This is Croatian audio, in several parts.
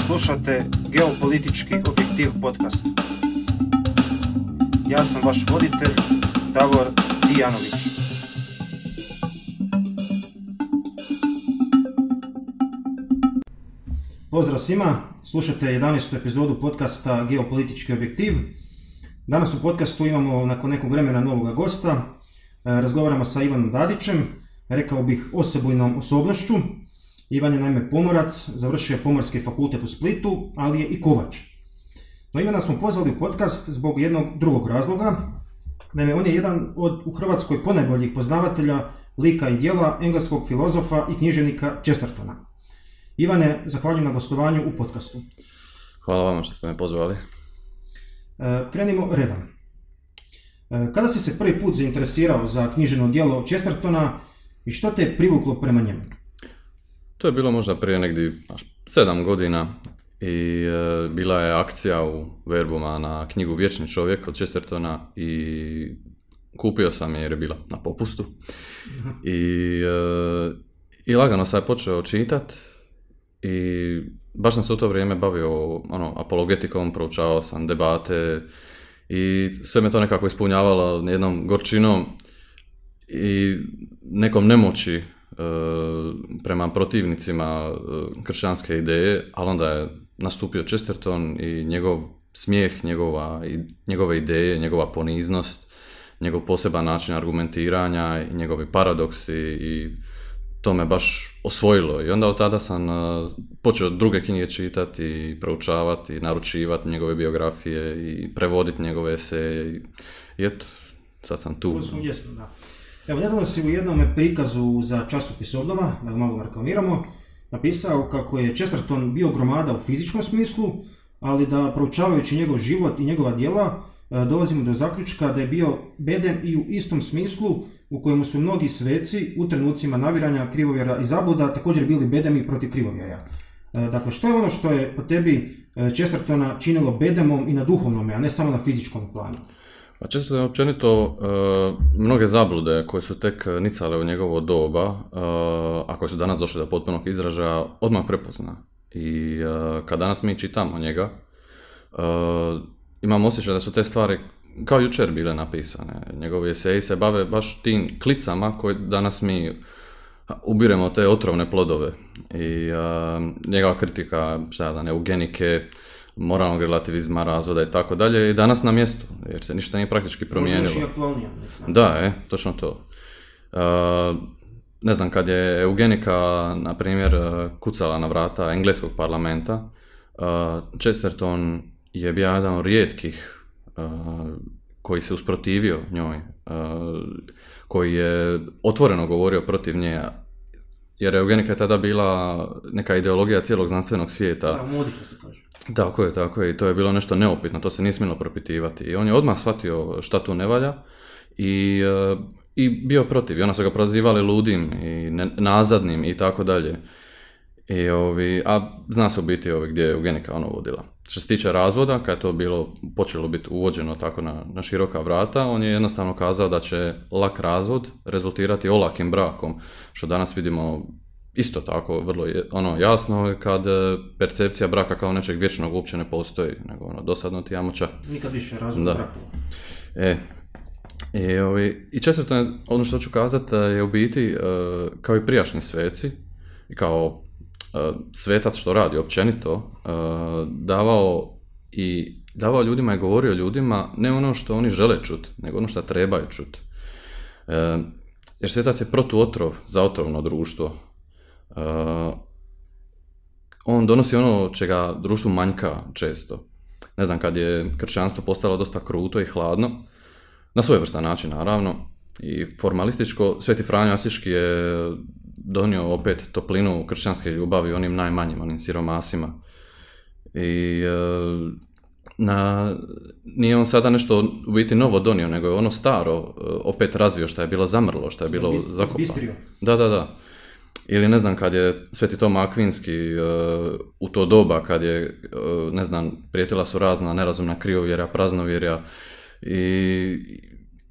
Slušate Geopolitički objektiv podcast. Ja sam vaš voditelj, Davor Dijanović. Pozdrav svima, slušate 11. epizodu podcasta Geopolitički objektiv. Danas u podcastu imamo nakon nekog vremena novog gosta. Razgovaramo sa Ivanom Dadićem, rekao bih osebujnom osobnošću. Ivan je naime pomorac, završio je Pomorski fakultet u Splitu, ali je i kovač. No Ivana smo pozvali u podcast zbog jednog drugog razloga. Naime, on je jedan od u Hrvatskoj ponajboljih poznavatelja lika i djela engleskog filozofa i književnika Chestertona. Ivane, zahvaljujem na gostovanju u podcastu. Hvala vama što ste me pozvali. Krenimo redom. Kada si se prvi put zainteresirao za književno djelo Chestertona i što te je privuklo prema njemu? To je bilo možda prije negdje 7 godina i bila je akcija u Verbuma na knjigu Vječni čovjek od Chestertona i kupio sam je jer je bila na popustu. I lagano sam je počeo čitati i baš sam se u to vrijeme bavio apologetikom, proučavao sam debate i sve me to nekako ispunjavalo jednom gorčinom i nekom nemoći prema protivnicima kršćanske ideje, ali onda je nastupio Chesterton i njegov smijeh, njegove ideje, njegova poniznost, njegov poseban način argumentiranja i njegovi paradoksi i to me baš osvojilo. I onda od tada sam počeo druge knjige čitati i proučavati, naručivati njegove biografije i prevoditi njegove eseje i eto, sad sam tu. Jesmo, da. Evo, nedavno si u jednom prikazu za časopis Obnova, da ga malo reklamiramo, napisao kako je Chesterton bio gromada u fizičkom smislu, ali da proučavajući njegov život i njegova djela dolazimo do zaključka da je bio bedem i u istom smislu u kojemu su mnogi sveci u trenucima naviranja krivovjera i zabluda također bili bedemi protiv krivovjera. Dakle, što je ono što je po tebi Chestertona činilo bedemom i na duhovnome, a ne samo na fizičkom planu? Često je općenito mnoge zablude koje su tek nicale u njegovo doba, a koje su danas došle do potpunog izražaja, odmah prepozna. I kad danas mi čitamo njega, imam osjećaj da su te stvari kao jučer bile napisane. Njegovi eseji se bave baš tim klicama koje danas mi ubiremo te otrovne plodove. I njegova kritika, eugenike, moralnog relativizma, razvoda i tako dalje, i danas na mjestu, jer se ništa nije praktički promijenilo. Možda još i aktualnija. Da, točno to. Ne znam, kad je eugenika, na primjer, kucala na vrata engleskog parlamenta, Chesterton je bio jedan od rijetkih koji se usprotivio njoj, koji je otvoreno govorio protiv nje, jer eugenika je tada bila neka ideologija cijelog znanstvenog svijeta. Da, modi što se kaže. Tako je, i to je bilo nešto neupitno, to se nije smjelo propitivati. I on je odmah shvatio šta tu ne valja i bio protiv. I onda su ga prozivali ludim i nazadnim i tako dalje. A zna se u biti gdje je eugenika vodila. Što se tiče razvoda, kad je to počelo biti uvođeno tako na široka vrata, on je jednostavno kazao da će lak razvod rezultirati olakim brakom, što danas vidimo isto tako, vrlo jasno, kad percepcija braka kao nečeg vječnog uopće ne postoji, nego dosadno ti jamoća. Nikad više razvod braka. I Chesterton, ono što ću kazati, je u biti, kao i prijašnji sveci, i kao svetac što radi općenito, davao ljudima i govorio ljudima ne ono što oni žele čuti, nego ono što trebaju čuti. Jer svetac je protuotrov za otrovno društvo. On donosi ono čega društvu manjka često. Ne znam, kad je kršćanstvo postalo dosta kruto i hladno, na svojevrstan način naravno, i formalističko, Sveti Franjo Asiški je donio opet toplinu kršćanske ljubavi onim najmanjim, onim siromasima. I nije on sada nešto u biti novo donio, nego je ono staro opet razvio, što je bilo zamrlo, što je bilo zakopano. Da. Ili ne znam, kad je Sveti Toma Akvinski u to doba, kad je, ne znam, prijetila su razna nerazumna krivovjerja, praznovjerja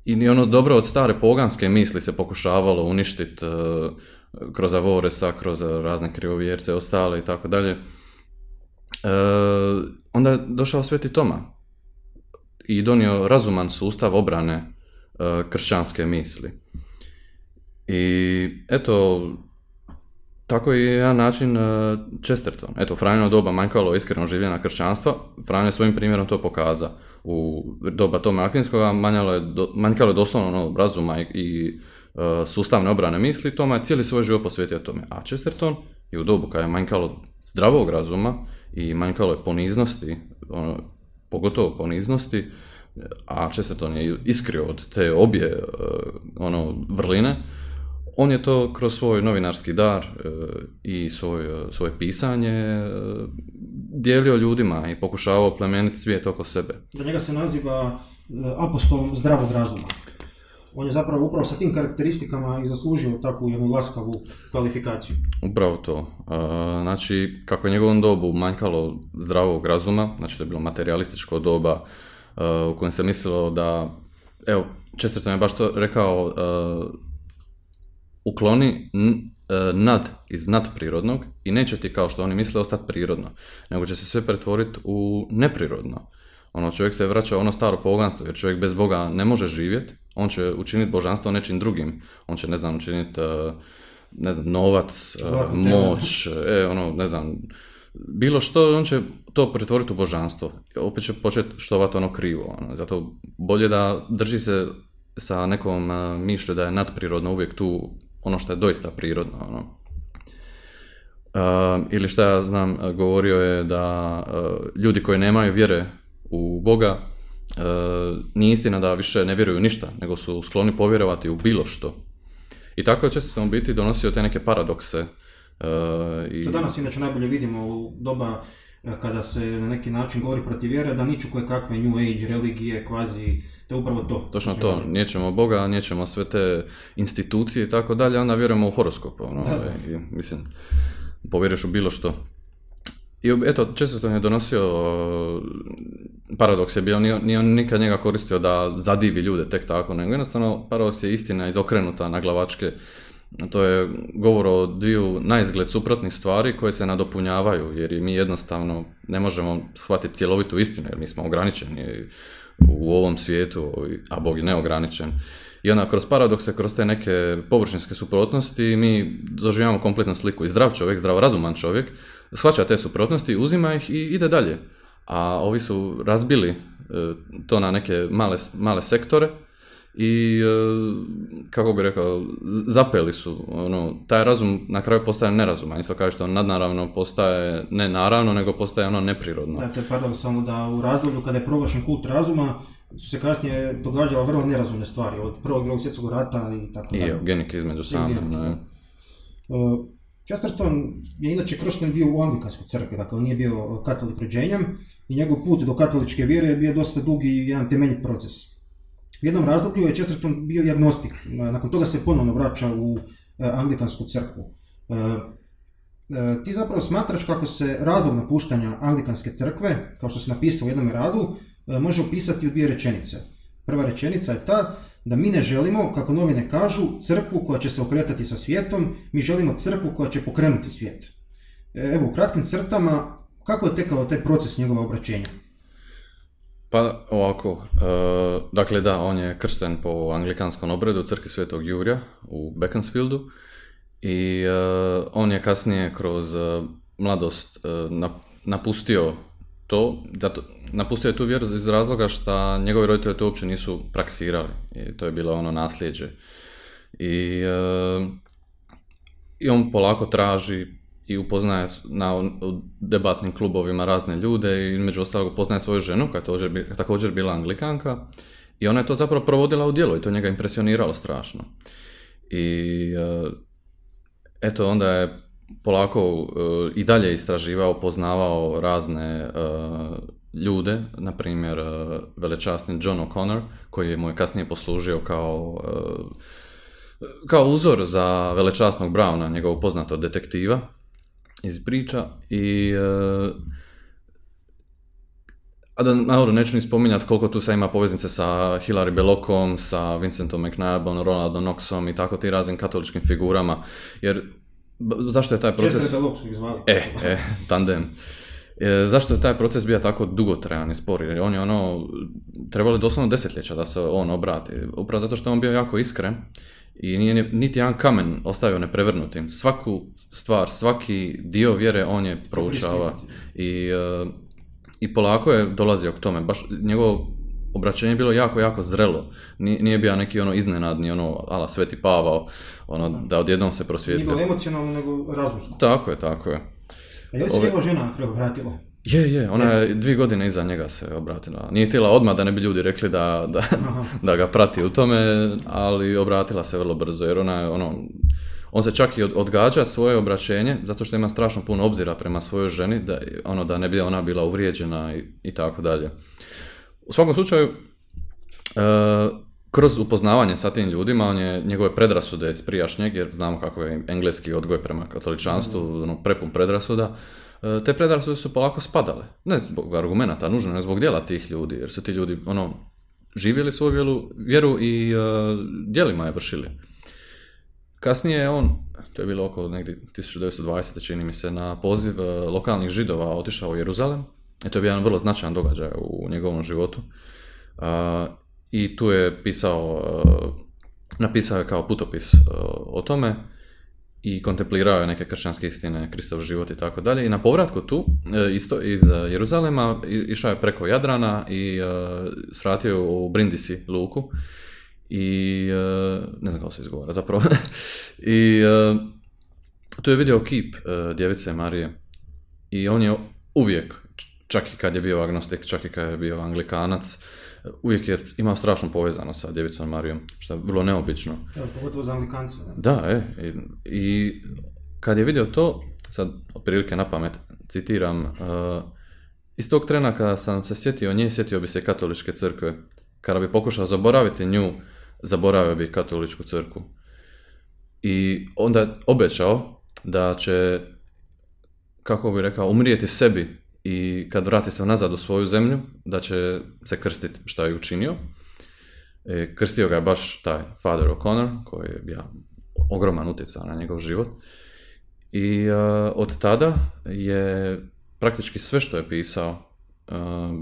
i ono dobro od stare poganske misli se pokušavalo uništiti kroz Avoresa, kroz razne krivovjerce, ostale i tako dalje. onda je došao Sveti Toma i donio razuman sustav obrane kršćanske misli. I eto, tako je jedan način Chesterton. Eto, Franjino doba manjkalo iskreno življenja kršćanstva, Franjo je svojim primjerom to pokaza. U doba Tome Akvinskoga manjkalo je doslovno razuma i sustavne obrane misli, Toma je cijeli svoj život posvetio tome. A Chesterton je u dobu kada je manjkalo zdravog razuma i manjkalo je poniznosti, pogotovo poniznosti, a Chesterton je iskrio od te obje vrline, on je to kroz svoj novinarski dar i svoje pisanje dijelio ljudima i pokušavao plemeniti svijet oko sebe. Za njega se naziva apostolom zdravog razuma. On je zapravo upravo sa tim karakteristikama i zaslužio takvu jednu laskavu kvalifikaciju. Upravo to. Znači, kako je njegovom dobu manjkalo zdravog razuma, znači to je bilo materijalističko doba u kojem se mislilo da, evo, Chesterton je baš to rekao, ukloni nad iz nadprirodnog i neće ti, kao što oni misle, ostati prirodno, nego će se sve pretvoriti u neprirodno. Čovjek se vraća u ono staro poganstvo, jer čovjek bez Boga ne može živjeti, on će učiniti božanstvo nečim drugim, on će, učiniti, novac, moć, bilo što, on će to pretvoriti u božanstvo. Opet će početi štovati krivo. Zato bolje da drži se sa nekom mišlju da je nadprirodno uvijek tu ono što je doista prirodno. Ili šta ja znam, govorio je da ljudi koji nemaju vjere u Boga, nije istina da više ne vjeruju ništa, nego su skloni povjerovati u bilo što. I tako je često u biti donosio te neke paradokse. To danas inače najbolje vidimo u doba kada se na neki način govori protiv vjere, da niču koje kakve New Age, religije, kvazi, to je upravo to. Točno to, nijećemo Boga, nijećemo sve te institucije i tako dalje, onda vjerujemo u horoskop. Mislim, povjeriš u bilo što. I eto, Chesterton je donosio, paradoks je bio, nije on nikad njega koristio da zadivi ljude tek tako, nego jednostavno paradoks je istina izokrenuta na glavačke. To je govor o dviju naizgled suprotnih stvari koje se nadopunjavaju, jer mi jednostavno ne možemo shvatiti cjelovitu istinu, jer mi smo ograničeni u ovom svijetu, a Bog je neograničen. I onda kroz paradokse, kroz te neke površinske suprotnosti mi doživljamo kompletnu sliku. I zdrav čovjek, zdravorazuman čovjek, shvaća te suprotnosti, uzima ih i ide dalje. A ovi su razbili to na neke male sektore i, kako bi rekao, zapeli su. Taj razum na kraju postaje nerazuman. Isto kao što nadnaravno postaje ne naravno, nego postaje neprirodno. Da, to je paradoksalno da u razdoblju kada je proglašen kult razuma, su se kasnije događala vrlo nerazumne stvari, od prvog i drugog svjetskog rata i tako dalje. I eugenike između same. Chesterton je inače kršten bio u anglikanskoj crkvi, dakle on nije bio katolik rođenjem i njegov put do katoličke vjere je bio dosta dug i jedan temeljit proces. U jednom razdoblju je Chesterton bio agnostik, nakon toga se ponovno vraća u anglikansku crkvu. Ti zapravo smatraš kako se razlog napuštanja anglikanske crkve, kao što se napisao u jednom radu, može opisati u dvije rečenice. Prva rečenica je ta da mi ne želimo, kako novine kažu, crkvu koja će se okretati sa svijetom, mi želimo crkvu koja će pokrenuti svijet. Evo, u kratkim crtama, kako je tekao taj proces njegova obraćenja? Pa ovako, dakle da, on je kršten po anglikanskom obredu u crkvi Svetog Jurja u Beaconsfieldu i on je kasnije kroz mladost napustio to, napustio je tu vjeru iz razloga što njegovi roditelji to uopće nisu praksirali i to je bilo nasljeđe. I on polako traži i upoznaje u debatnim klubovima razne ljude i među ostalog upoznaje svoju ženu koja je također bila Anglikanka i ona je to zapravo provodila u djelo i to njega impresioniralo strašno. I eto onda je polako i dalje istraživao, poznavao razne ljude, na primjer velečasni John O'Connor, koji mu je kasnije poslužio kao uzor za velečasnog Browna, njegovog poznatog detektiva iz priča. I a da naravno neću ni spominjati koliko tu sad ima poveznice sa Hilary Bellocom, sa Vincentom McNabom, Ronaldom Knoxom i tako ti raznim katoličkim figurama, jer zašto je taj proces... Često je Belloc su ih zvali. Tandem. Zašto je taj proces bio tako dugotrajan i spor? Jer on je trebalo doslovno desetljeća da se on obrati. Upravo zato što je on bio jako iskren i nije niti jedan kamen ostavio neprevrnutim. Svaku stvar, svaki dio vjere on je proučava i polako je dolazio k tome. Baš njegovo obraćenje je bilo jako, jako zrelo. Nije bio neki iznenadni, ala Sveti Pavao, da odjednom se prosvijetli. Nije bilo emocionalno, nego razumsko. Tako je. A je li se njegova žena obratila? Je, ona je 2 godine iza njega se obratila. Nije htjela odmah da ne bi ljudi rekli da ga prati u tome, ali obratila se vrlo brzo, jer on se čak i odgađa svoje obraćenje, zato što ima strašno puno obzira prema svojoj ženi, da ne bi ona bila uvrijeđena i tako dalje. U svakom slučaju, kroz upoznavanje sa tim ljudima, njegove predrasude iz prijašnjeg, jer znamo kako je engleski odgoj prema katoličanstvu, prepun predrasuda, te predrasude su polako spadale. Ne zbog argumenata nužno, ne zbog djela tih ljudi, jer su ti ljudi živjeli svoju vjeru i djelima je vršili. Kasnije je to je bilo oko negdje 1920. čini mi se, na poziv lokalnih Židova otišao u Jeruzalem. I to je bio jedan vrlo značajan događaj u njegovom životu. I tu je napisao je kao putopis o tome i kontemplirao je neke kršćanske istine, Kristov život i tako dalje. I na povratku tu, isto iz Jeruzalema, išao je preko Jadrana i svratio u Brindisi luku. I ne znam kako se izgovara zapravo. I tu je vidio kip djevice Marije. I on je uvijek, čak i kad je bio agnostik, čak i kad je bio anglikanac, uvijek je imao strašnu povezanost sa djevicom Marijom, što je vrlo neobično. Pogotovo za anglikance. Da, i kad je vidio to, sad otprilike na pamet citiram, iz tog trena kada sam se sjetio bi se katoličke crkve. Kada bi pokušao zaboraviti nju, zaboravio bi katoličku crkvu. I onda je obećao da će, kako bi rekao, umrijeti sebi i kad vrati se nazad u svoju zemlju, da će se krstiti, što je učinio. Krstio ga je baš taj Father O'Connor, koji je bio ogroman utjecaj na njegov život. I od tada je praktički sve što je pisao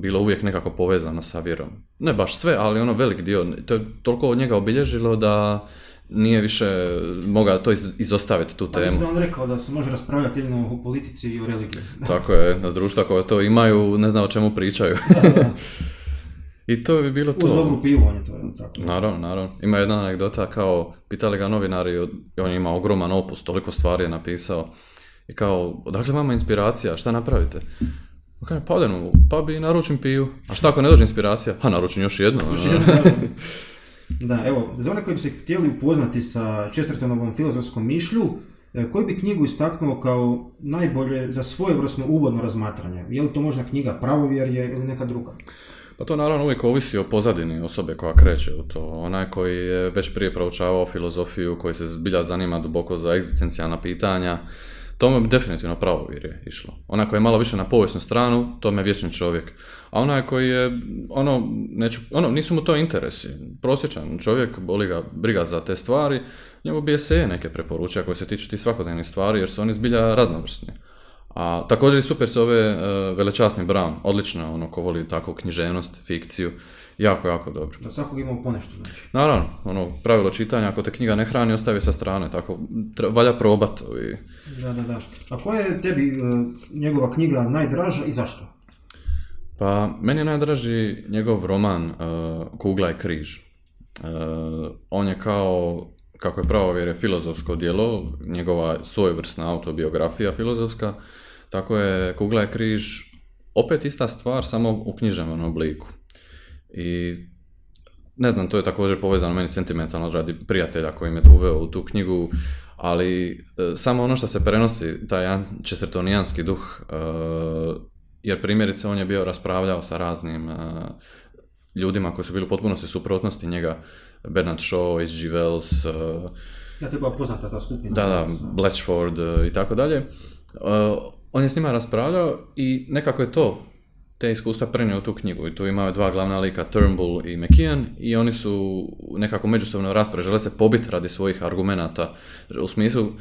bilo uvijek nekako povezano sa vjerom. Ne baš sve, ali velik dio. To je toliko od njega obilježilo da nije više mogao to izostaviti tu temu. Mislim da on rekao da se može raspravljati jedino o politici i o religiji. Tako je, na društva koje to imaju, ne znam o čemu pričaju. Da. I to bi bilo to. Uz dobru pivu on je to, tako. Naravno. Ima jedna anegdota, kao, pitali ga novinari, on je imao ogroman opus, toliko stvari je napisao. I kao, odakle vama inspiracija, šta napravite? Pa odem u pub i naručim pivu. A šta ako ne dođe inspiracija? Naručim još jednu. Da, evo, za one koji bi se htjeli upoznati sa Chestertonovom filozofskom mišlju, koju bi knjigu istaknuo kao najbolje za svojevrsno uvodno razmatranje? Je li to možda knjiga Pravovjerje ili neka druga? Pa to naravno uvijek ovisi o pozadini osobe koja kreće u to. Onaj koji je već prije proučavao filozofiju, koji se zbilja zanima duboko za egzistencijalna pitanja, tome bi definitivno Pravovjerje išlo. Onaj koji je malo više na povijesnu stranu, tome je vječni čovjek. A onaj koji je, nisu mu to interesi. Prosječan čovjek, boli ga briga za te stvari, njemu bi eseje neke preporučja koje se tiču tih svakodnevnih stvari, jer su oni zbilja raznovrsni. A također i super se ove Velečasni Brown, odlično, ko voli takvu književnost, fikciju, jako, jako dobro. Da svakog imamo ponešto, znači. Naravno, pravilo čitanja, ako te knjiga ne hrani, ostavi sa strane, tako, valja probati. Da. A koja je tebi njegova knjiga najdraža i zašto? Pa, meni je najdraži njegov roman Kugla i križ. On je kao, kako je Pravovjerje filozofsko djelo, njegova svojevrsna autobiografija filozofska, tako je Kugla i križ opet ista stvar, samo u književnom obliku. I ne znam, to je također povezano meni sentimentalno radi prijatelja koji me uveo u tu knjigu, ali samo ono što se prenosi, taj chestertonijanski duh, jer primjerice on je bio raspravljao sa raznim ljudima koji su bili u potpunosti suprotnosti njega, Bernard Shaw, H.G. Wells, ja te bila poznata ta skupina. Da, Blatchford i tako dalje. On je s njima raspravljao i nekako je te iskustva prenio u tu knjigu. I tu imaju dva glavna lika, Turnbull i McKeon, i oni su nekako međusobno rasprave, žele se pobiti radi svojih argumenata. U smislu,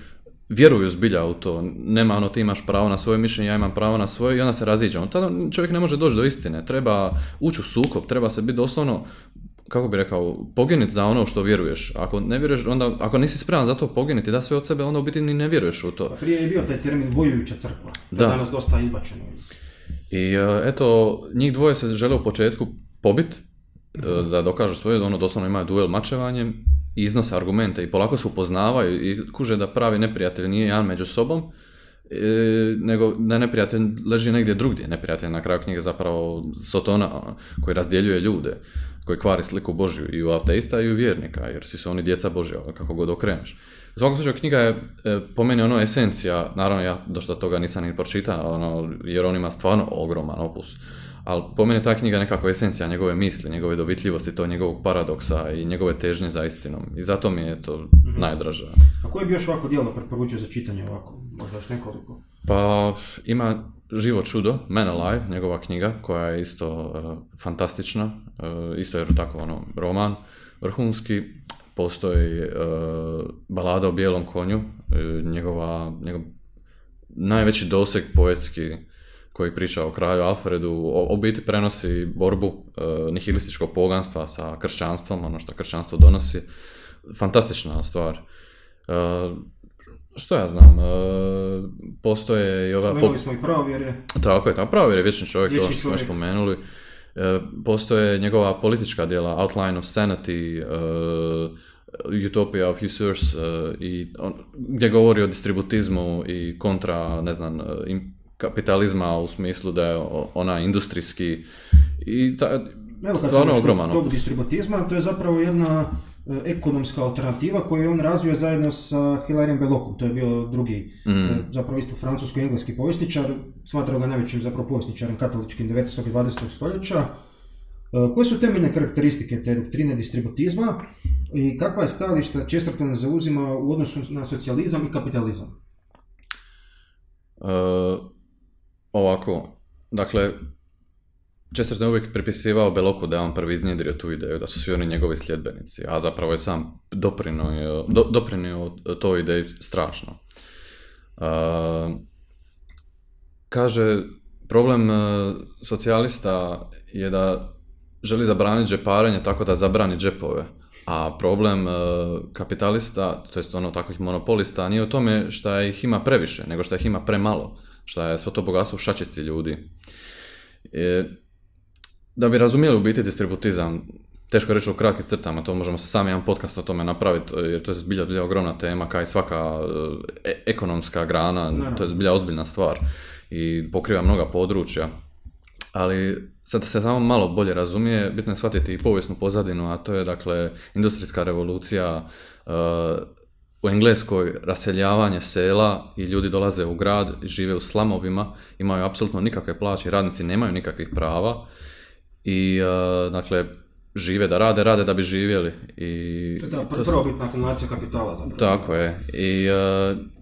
vjeruju zbilja u to, nema ono ti imaš pravo na svoje mišljenje, ja imam pravo na svoje i onda se raziđemo. Tada čovjek ne može doći do istine, treba ući u sukob, treba se biti doslovno, kako bi rekao, poginiti za ono što vjeruješ. Ako ne vjeruješ, onda, ako nisi spreman za to poginiti, da sve od sebe, onda u biti ni ne vjeruješ u to. Pa prije je bio taj termin vojujuća crkva, to je danas dosta izbačeno. I eto, njih dvoje se žele u početku pobiti, da dokažu svoje, ono doslovno imaju duel mačevanjem, iznose argumente i polako se upoznavaju i kuže da pravi neprijatelj nije jedan među sobom, nego da neprijatelj leži negdje drugdje. Neprijatelj na kraju knjige zapravo Sotona koji razdjeljuje ljude, koji kvari sliku Božju i u ateista i u vjernika, jer svi su oni djeca Božja, kako god okreneš. U svakom slučaju knjiga je po meni ono esencija, naravno ja dosta toga nisam ni pročitao, jer on ima stvarno ogroman opus. Ali po meni ta knjiga je nekako esencija njegove misli, njegove dovitljivosti, to njegovog paradoksa i njegove težnje za istinom. I zato mi je to najdraža. A koje bi još ovako djelo preporučio za čitanje ovako? Možda još nekoliko? Pa ima Živo čudo, Man Alive, njegova knjiga, koja je isto fantastična. Isto je tako roman vrhunski. Postoji Balada o bijelom konju, njegov najveći doseg poetski, koji priča o kralju Alfredu, u biti prenosi borbu nihilističkog poganstva sa kršćanstvom, ono što kršćanstvo donosi. Fantastična stvar. Što ja znam, postoje i ova... Spomenuli smo i pravovjerje. Tako je, pravovjerje, vječni čovjek, to što smo još spomenuli. Postoje njegova politička djela, Outline of Sanity, Utopia of Users, gdje govori o distributizmu i kontra, ne znam, kapitalizma u smislu da je ona industrijski i stvarno ogroman. Tog distributizma, to je zapravo jedna ekonomska alternativa koju je on razvio zajedno sa Hilarijem Belocom. To je bio drugi, zapravo isto francusko-engleski povjesničar, smatrao ga najvećim zapravo povjesničarem katoličkim 19. i 20. stoljeća. Koje su temeljne karakteristike te doktrine distributizma i kakva je stajališta Chesterton zauzima u odnosu na socijalizam i kapitalizam? Ovako, dakle, Chesterton je uvijek pripisivao Beloku da je on prvi iznjedrio tu ideju, da su svi oni njegovi sljedbenici, a zapravo je sam doprinio toj ideji strašno. Kaže, problem socijalista je da želi zabraniti džeparenje tako da zabrani džepove, a problem kapitalista, to jest takvih monopolista, nije u tome što ih ima previše, nego što ih ima premalo, što je svo to bogatstvo u šačici ljudi. Da bi razumjeli u biti distributizam, teško je reći u kratkim crtama, to možemo sami jedan podcast o tome napraviti, jer to je zbilja ogromna tema, kao i svaka ekonomska grana, to je zbilja ozbiljna stvar i pokriva mnoga područja. Ali sad da se samo malo bolje razumije, bitno je shvatiti i povijesnu pozadinu, a to je dakle industrijska revolucija, u Engleskoj raseljavanje sela i ljudi dolaze u grad, žive u slamovima, imaju apsolutno nikakve plaće, radnici nemaju nikakvih prava i dakle žive da rade da bi živjeli. Da, prvobitna akumulacija kapitala zapravo. Tako je.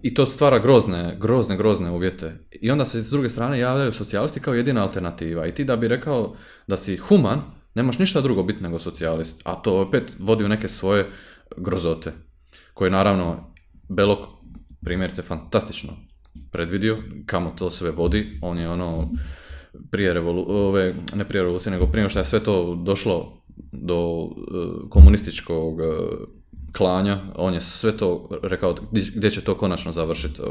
I to stvara grozne uvjete. I onda se s druge strane javljaju socijalisti kao jedina alternativa. I ti da bi rekao da si human, nemaš ništa drugo biti nego socijalist. A to opet vodi u neke svoje grozote. Koje naravno Belok primjerice fantastično predvidio kamo to sve vodi. On je prije revolucije, nego prije što je sve to došlo do komunističkog klanja, on je sve to rekao gdje će to konačno završiti,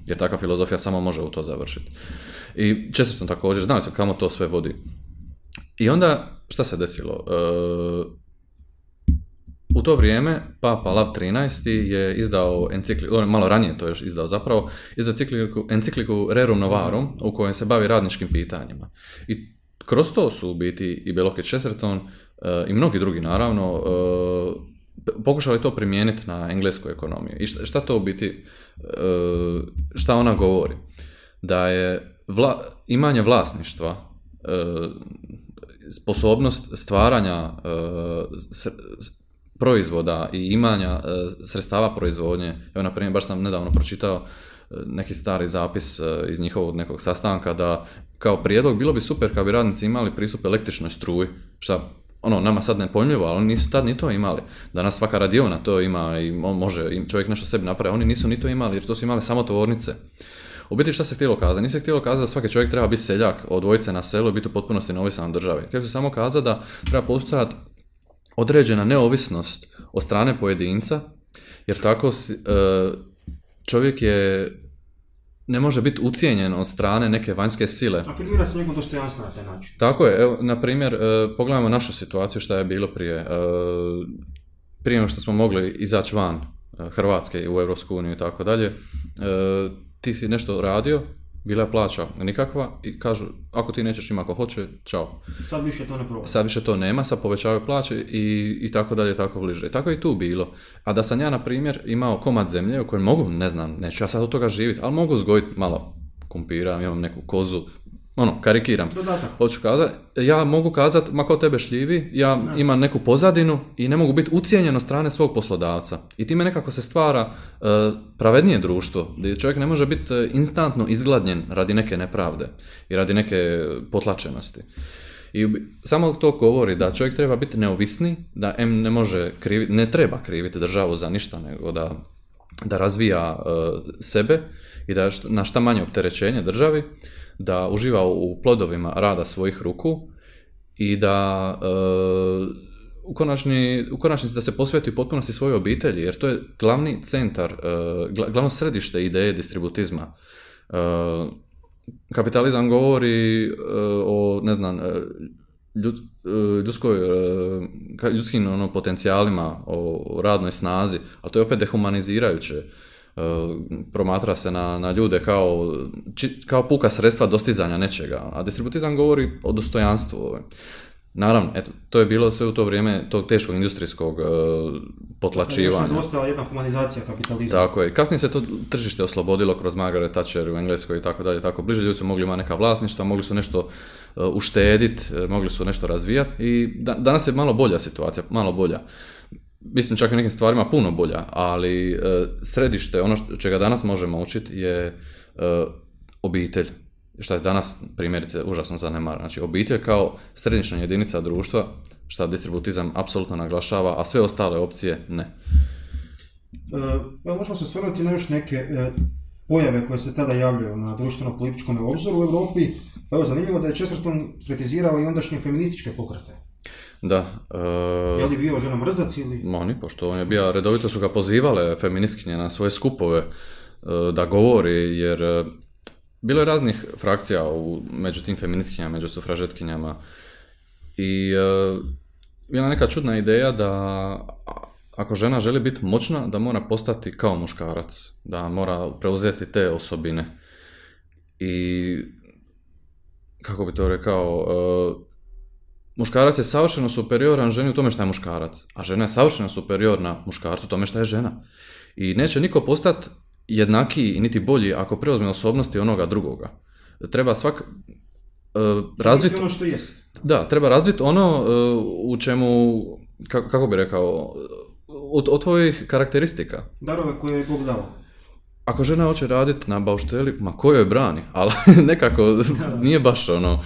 jer takva filozofija samo može u to završiti. I Chesterton također, znali su kamo to sve vodi. I onda, šta se desilo? U to vrijeme Papa Lav XIII je izdao encikliku, malo ranije to još izdao zapravo, encikliku Rerum Novarum u kojoj se bavi radničkim pitanjima. I kroz to su u biti i Belloc i Chesterton i mnogi drugi naravno pokušali to primijeniti na englesku ekonomiju. I šta to u biti, šta ona govori? Da je imanje vlasništva, sposobnost stvaranja proizvoda i imanja sredstava proizvodnje. Evo, na primjer, baš sam nedavno pročitao neki stari zapis iz njihovog nekog sastanka da kao prijedlog bilo bi super kad bi radnici imali pristup električnoj struji, šta ono, nama sad nepojmljivo, ali oni nisu tad ni to imali. Danas svaka radiona to ima i može čovjek nešto sebi napravi, oni nisu ni to imali, jer to su imali samo tvornice. U biti šta se htjelo kazati? Nije se htjelo kazati da svaki čovjek treba biti seljak, odvojiti se na selu i biti u potpunosti neovisan od države. Htjelo se samo kazati da treba postojati određena neovisnost od strane pojedinca, jer tako čovjek ne može biti ucijenjen od strane neke vanjske sile. Afirmira se njegov dostojanstvo na taj način. Tako je, evo, na primjer, pogledajmo našu situaciju šta je bilo prije. Prije nego što smo mogli izaći van Hrvatske u Europsku uniju i tako dalje, ti si nešto radio, bila je plaća nikakva i kažu, ako ti nećeš ima ako hoće, čao. Sad više to ne provodi. Sad više to nema, sad povećavaju plaće i tako dalje, tako bliže. I tako je i tu bilo. A da sam ja, na primjer, imao komad zemlje u kojem mogu, ne znam, neću ja sad od toga živjeti, ali mogu uzgojiti malo kumpira, imam neku kozu, ono, karikiram. Hoću kazati, ja mogu kazati, ma ko tebe šljivi, ja imam neku pozadinu i ne mogu biti ucijenjen od strane svog poslodavca. I time nekako se stvara pravednije društvo, gdje čovjek ne može biti instantno izgladnjen radi neke nepravde i radi neke potlačenosti. I samo to govori da čovjek treba biti neovisni, da ne treba kriviti državu za ništa, nego da razvija sebe i da na šta manje opterećenje državi, da uživa u plodovima rada svojih ruku i da u konačnici da se posveti u potpunosti svojoj obitelji, jer to je glavni centar, glavno središte ideje distributizma. Kapitalizam govori o, ne znam, ljudskim potencijalima, o radnoj snazi, ali to je opet dehumanizirajuće. Promatra se na ljude kao puka sredstva dostizanja nečega, a distributizam govori o dostojanstvu. Naravno, eto, to je bilo sve u to vrijeme tog teškog industrijskog potlačivanja. Još je dosta jedna humanizacija kapitalizma. Tako je. Kasnije se to tržište oslobodilo kroz Margaret Thatcher u Engleskoj i tako dalje, tako bliže. Ljudi su mogli imati neka vlasništva, mogli su nešto uštediti, mogli su nešto razvijati i danas je malo bolja situacija, malo bolja. Mislim, čak i nekim stvarima puno bolja, ali središte, ono čega danas možemo učiti je obitelj. Šta je danas, primjerice, užasno zanemar. Znači, obitelj kao središnja jedinica društva, šta distributizam apsolutno naglašava, a sve ostale opcije ne. Možemo se osvrnuti na još neke pojave koje se tada javljaju na društveno-političkom obzoru u Europi. Pa evo, zanimljivo da je Chesterton kritizirao i ondašnje feminističke pokrete. Da. Je li bio žena mrzac ili... Oni, pošto on je bio, redovito su ga pozivale feministkinje na svoje skupove da govori, jer bilo je raznih frakcija među tim feministkinjama, među sufražetkinjama i bila neka čudna ideja da ako žena želi biti moćna, da mora postati kao muškarac, da mora preuzeti te osobine. I kako bi to rekao, muškarac je savršeno superioran ženi u tome što je muškarac, a žena je savršeno superiorna muškarcu u tome što je žena. I neće niko postati jednakiji niti bolji ako preuzme osobnosti onoga drugoga. Treba razviti ono što jest. Da, treba razviti ono u čemu, kako bi rekao, od tvojih karakteristika. Darove koje je Bog dao. Ako žena hoće raditi na baušteli, ma ko joj brani, ali nekako nije baš ono.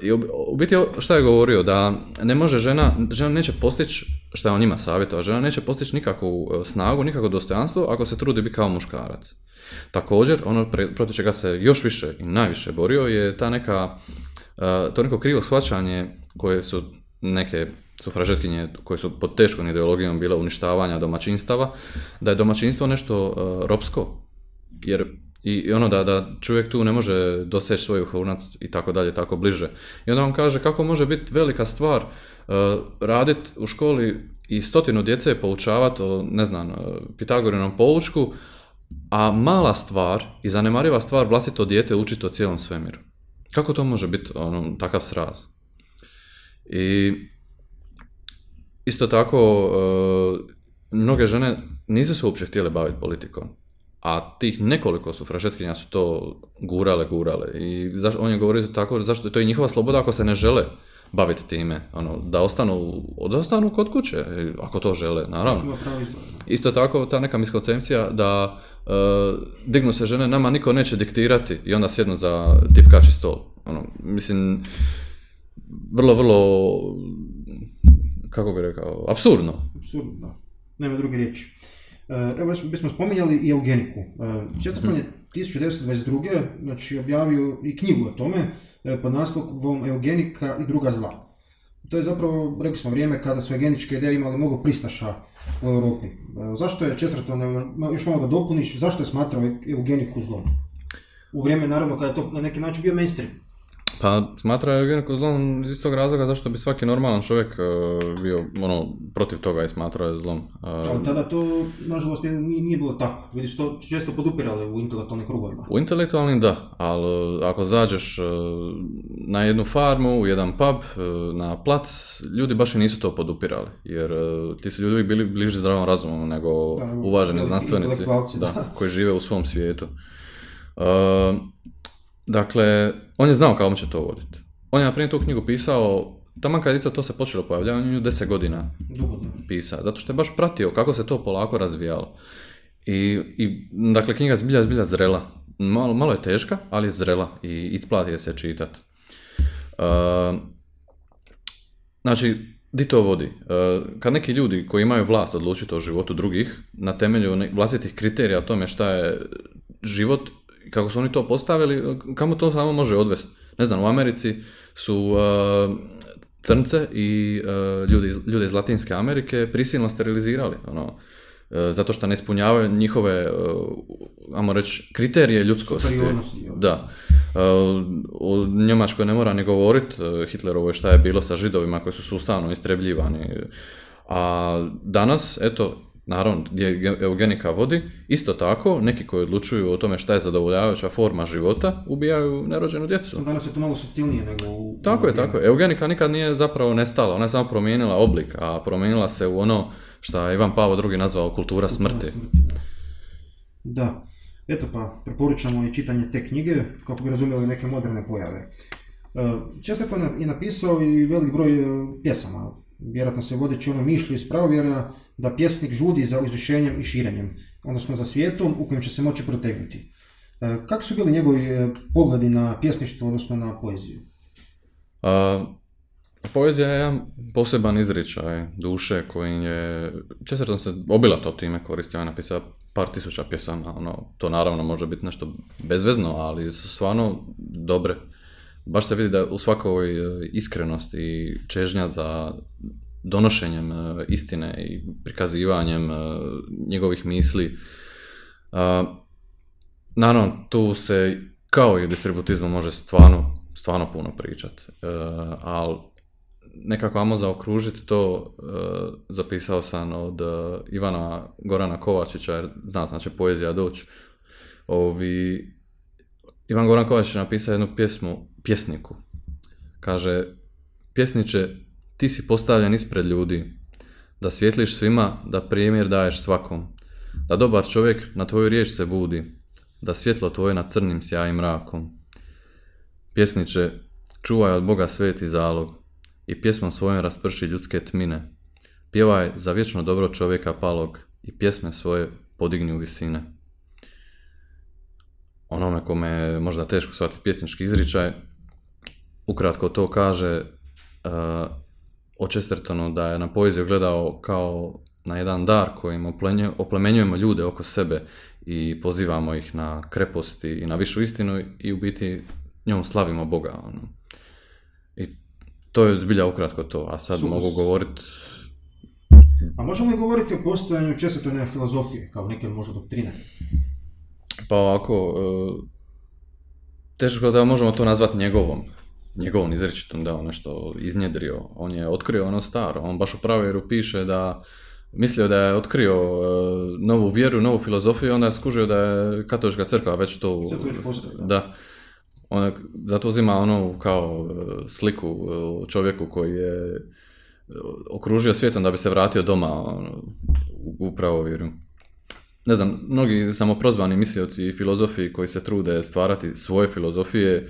I u biti šta je govorio, da ne može žena neće postići, šta je on njima savjetovao, žena neće postići nikakvu snagu, nikakvo dostojanstvo ako se trudi biti kao muškarac. Također, ono protiv čega se još više i najviše borio je to neko krivo shvaćanje koje su neke sufražetkinje koje su pod teškom ideologijom bile uništavanja domaćinstava, da je domaćinstvo nešto ropsko, jer i ono da čovjek tu ne može doseći svoj vrhunac i tako dalje, tako bliže. I onda on kaže kako može biti velika stvar raditi u školi i 100 djece poučavati o, ne znam, Pitagorinom poučku, a mala stvar i zanemariva stvar vlastito dijete učiti o cijelom svemiru. Kako to može biti takav sraz? I isto tako, mnoge žene nisu se uopće htjele baviti politikom. A tih nekoliko sufražetkinja su to gurale. I on je govorio tako, zašto to je njihova sloboda ako se ne žele baviti time. Da ostanu kod kuće, ako to žele, naravno. Isto tako, ta neka miskoncepcija da dignu se žene, nama niko neće diktirati i onda sjednu za tipkači stol. Mislim, vrlo kako bi rekao, apsurdno. Apsurdno, da. Nema druge riječi. Evo, bismo spominjali i eugeniku. Chesterton je 1922. Znači, objavio i knjigu o tome pod naslovom Eugenika i druga zla. To je zapravo, rekli smo, vrijeme kada su eugeničke ideje imali mnogo pristaša u Europi. Zašto je Chesterton, još malo da dopuniš, zašto je smatrao eugeniku zlom? U vrijeme, naravno, kada je to na neki način bio mainstream. Pa smatrao je eugeniku zlom iz tog razloga zašto bi svaki normalan čovjek bio protiv toga i smatrao je zlom. Ali tada to, nažalost, nije bilo tako. Vidiš, to često podupirali u intelektualnim krugovima. U intelektualnim da, ali ako zađeš na jednu farmu, u jedan pub, na plac, ljudi baš i nisu to podupirali. Jer ti su ljudi bili bliži zdravom razumu nego uvaženi znanstvenici koji žive u svom svijetu. Dakle, on je znao kako će to voditi. On je na primjer tu knjigu pisao, taman kad isto to se počelo pojavljavati, on je 10 godina pisao, zato što je baš pratio kako se to polako razvijalo. I dakle, knjiga zbilja zrela. Malo je teška, ali je zrela i isplati je se čitati. Znači, di to vodi? Kad neki ljudi koji imaju vlast odlučiti o životu drugih, na temelju vlastitih kriterija o tome šta je život, kako su oni to postavili, kamo to samo može odvesti? Ne znam, u Americi su crnce i ljude iz Latinske Amerike prisilno sterilizirali, zato što ne ispunjavaju njihove, ajmo reći, kriterije ljudskosti. Da. U Njemačkoj ne mora ni govoriti Hitlerovoj šta je bilo sa Židovima koji su sustavno istrebljivani. A danas, eto, naravno, gdje eugenika vodi, isto tako, neki koji odlučuju o tome šta je zadovoljavajuća forma života, ubijaju nerođenu djecu. Danas je to malo suptilnije nego u... Tako je. Eugenika nikad nije zapravo nestala, ona je samo promijenila oblik, a promijenila se u ono što je Ivan Pavao II nazvao kultura smrti. Da. Eto pa, preporučamo i čitanje te knjige, kako bi razumjeli neke moderne pojave. Chesterton je napisao i velik broj pjesama. Vjerojatno se vodeći ono mišlju iz pravovjera da pjesnik žudi za uzvišenjem i širenjem, odnosno za svijetom u kojem će se moći protegnuti. Kako su bili njegovi pogledi na pjesništvo, odnosno na poeziju? Poezija je jedan poseban izričaj duše koji je... Chesterton se obilato time koristio, on je napisao par tisuća pjesama, to naravno može biti nešto bezvezno, ali su stvarno dobre. Baš se vidi da u svakoj iskrenosti i čežnja za donošenjem istine i prikazivanjem njegovih misli. Naravno, tu se kao i distributizmu može stvarno puno pričati, ali nekako ajmo zaokružiti to, zapisao sam od Ivana Gorana Kovačića, jer znači poezija doći. Ivan Goran Kovačić je napisao jednu pjesniku. Kaže, pjesniče, ti si postavljen ispred ljudi, da svijetliš svima, da primjer daješ svakom, da dobar čovjek na tvoju riječ se budi, da svjetlo tvoje nad crnim sjaji mrakom. Pjesniče, čuvaj od Boga sveti zalog i pjesmom svojom rasprši ljudske tmine. Pjevaj za vječno dobro čovjeka palog i pjesme svoje podigni u visine. Onome kome je možda teško shvatiti pjesnički izričaj, ukratko to kaže o Chestertonu da je na poeziju gledao kao na jedan dar kojim oplemenjujemo ljude oko sebe i pozivamo ih na kreposti i na višu istinu i u biti njom slavimo Boga. I to je zbilja ukratko to, a sad mogu govoriti... A možemo li govoriti o postojanju Chestertonove filozofije, kao neke možda doktrine? Pa ovako, teško da možemo to nazvati njegovom izričitom, da on nešto iznjedrio. On je otkrio ono staro, on baš u pravovjeru piše da mislio da je otkrio novu vjeru, novu filozofiju, onda je skužio da je katolička crkva već to... Da. On zato uzima ono kao sliku čovjeku koji je okružio svijetom da bi se vratio doma u pravovjeru. Ne znam, mnogi samoprozvani mislioci i filozofi koji se trude stvarati svoje filozofije,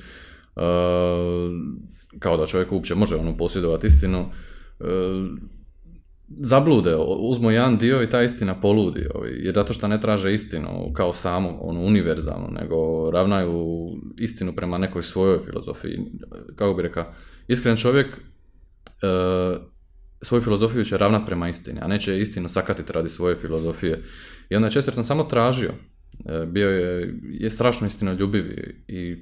kao da čovjek uopće može posjedovati istinu, zablude, uzmu jedan dio i ta istina poludi, jer zato što ne traže istinu kao samu, univerzalnu, nego ravnaju istinu prema nekoj svojoj filozofiji. Kako bi rekao, iskren čovjek svoju filozofiju će ravnat prema istini, a neće istinu sakatiti radi svoje filozofije. I onda je Chesterton samo tražio, bio je strašno istinoljubiv i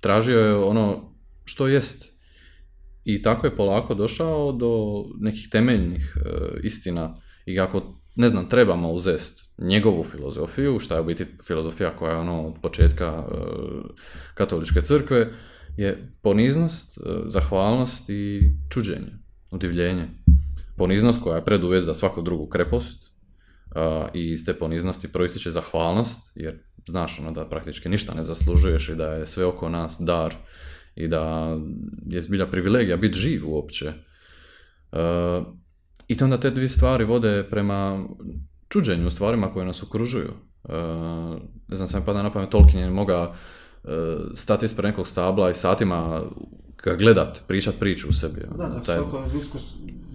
tražio je ono što jest. I tako je polako došao do nekih temeljnih istina i ako, ne znam, trebamo uzest njegovu filozofiju, šta je u biti filozofija koja je ono od početka katoličke crkve, je poniznost, zahvalnost i čuđenje, udivljenje. Poniznost koja je preduvjet za svaku drugu krepost i iz te poniznosti proističe zahvalnost, jer znaš ono da praktički ništa ne zaslužuješ i da je sve oko nas dar i da je zbilja privilegija biti živ uopće. I onda te dvije stvari vode prema čuđenju u stvarima koje nas okružuju. Ne znam, sam pada na pamet, Tolkien je mogao stati ispred nekog stabla i satima ga gledat, pričat priču u sebi. Da, svako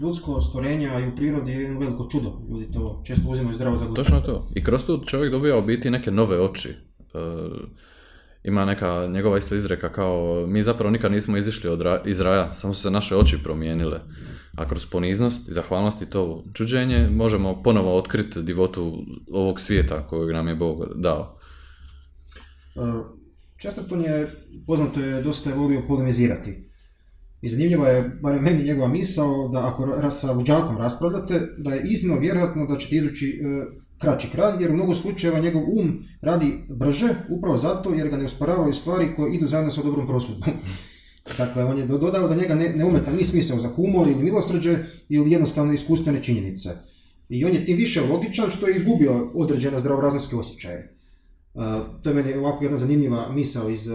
ljudsko stvorenje, a i u prirodi je jedno veliko čudo. Ljudi to često uzimaju zdravo za gotovo. Točno to. I kroz to čovjek dobija u biti neke nove oči. Ima neka njegova isto izreka kao mi zapravo nikad nismo izišli iz raja, samo su se naše oči promijenile. A kroz poniznost i zahvalnost i to čuđenje možemo ponovo otkriti divotu ovog svijeta kojeg nam je Bog dao. Chesterton je, poznato je, dosta je volio polemizirati. I zanimljiva je, barem meni, njegova misao da ako sa luđakom raspravljate, da je iznimno vjerojatno da ćete izvući kraći kraj, jer u mnogo slučajeva njegov radi brže, upravo zato jer ga ne usporavaju stvari koje idu zajedno sa dobrom prosudbom. Dakle, on je dodao da njega ne umeta ni smisao za humor ili milosrđe ili jednostavno iskustvene činjenice. I on je tim više logičan što je izgubio određene zdravorazumske osjećaje. To je meni ovako jedna zanimljiva misao iz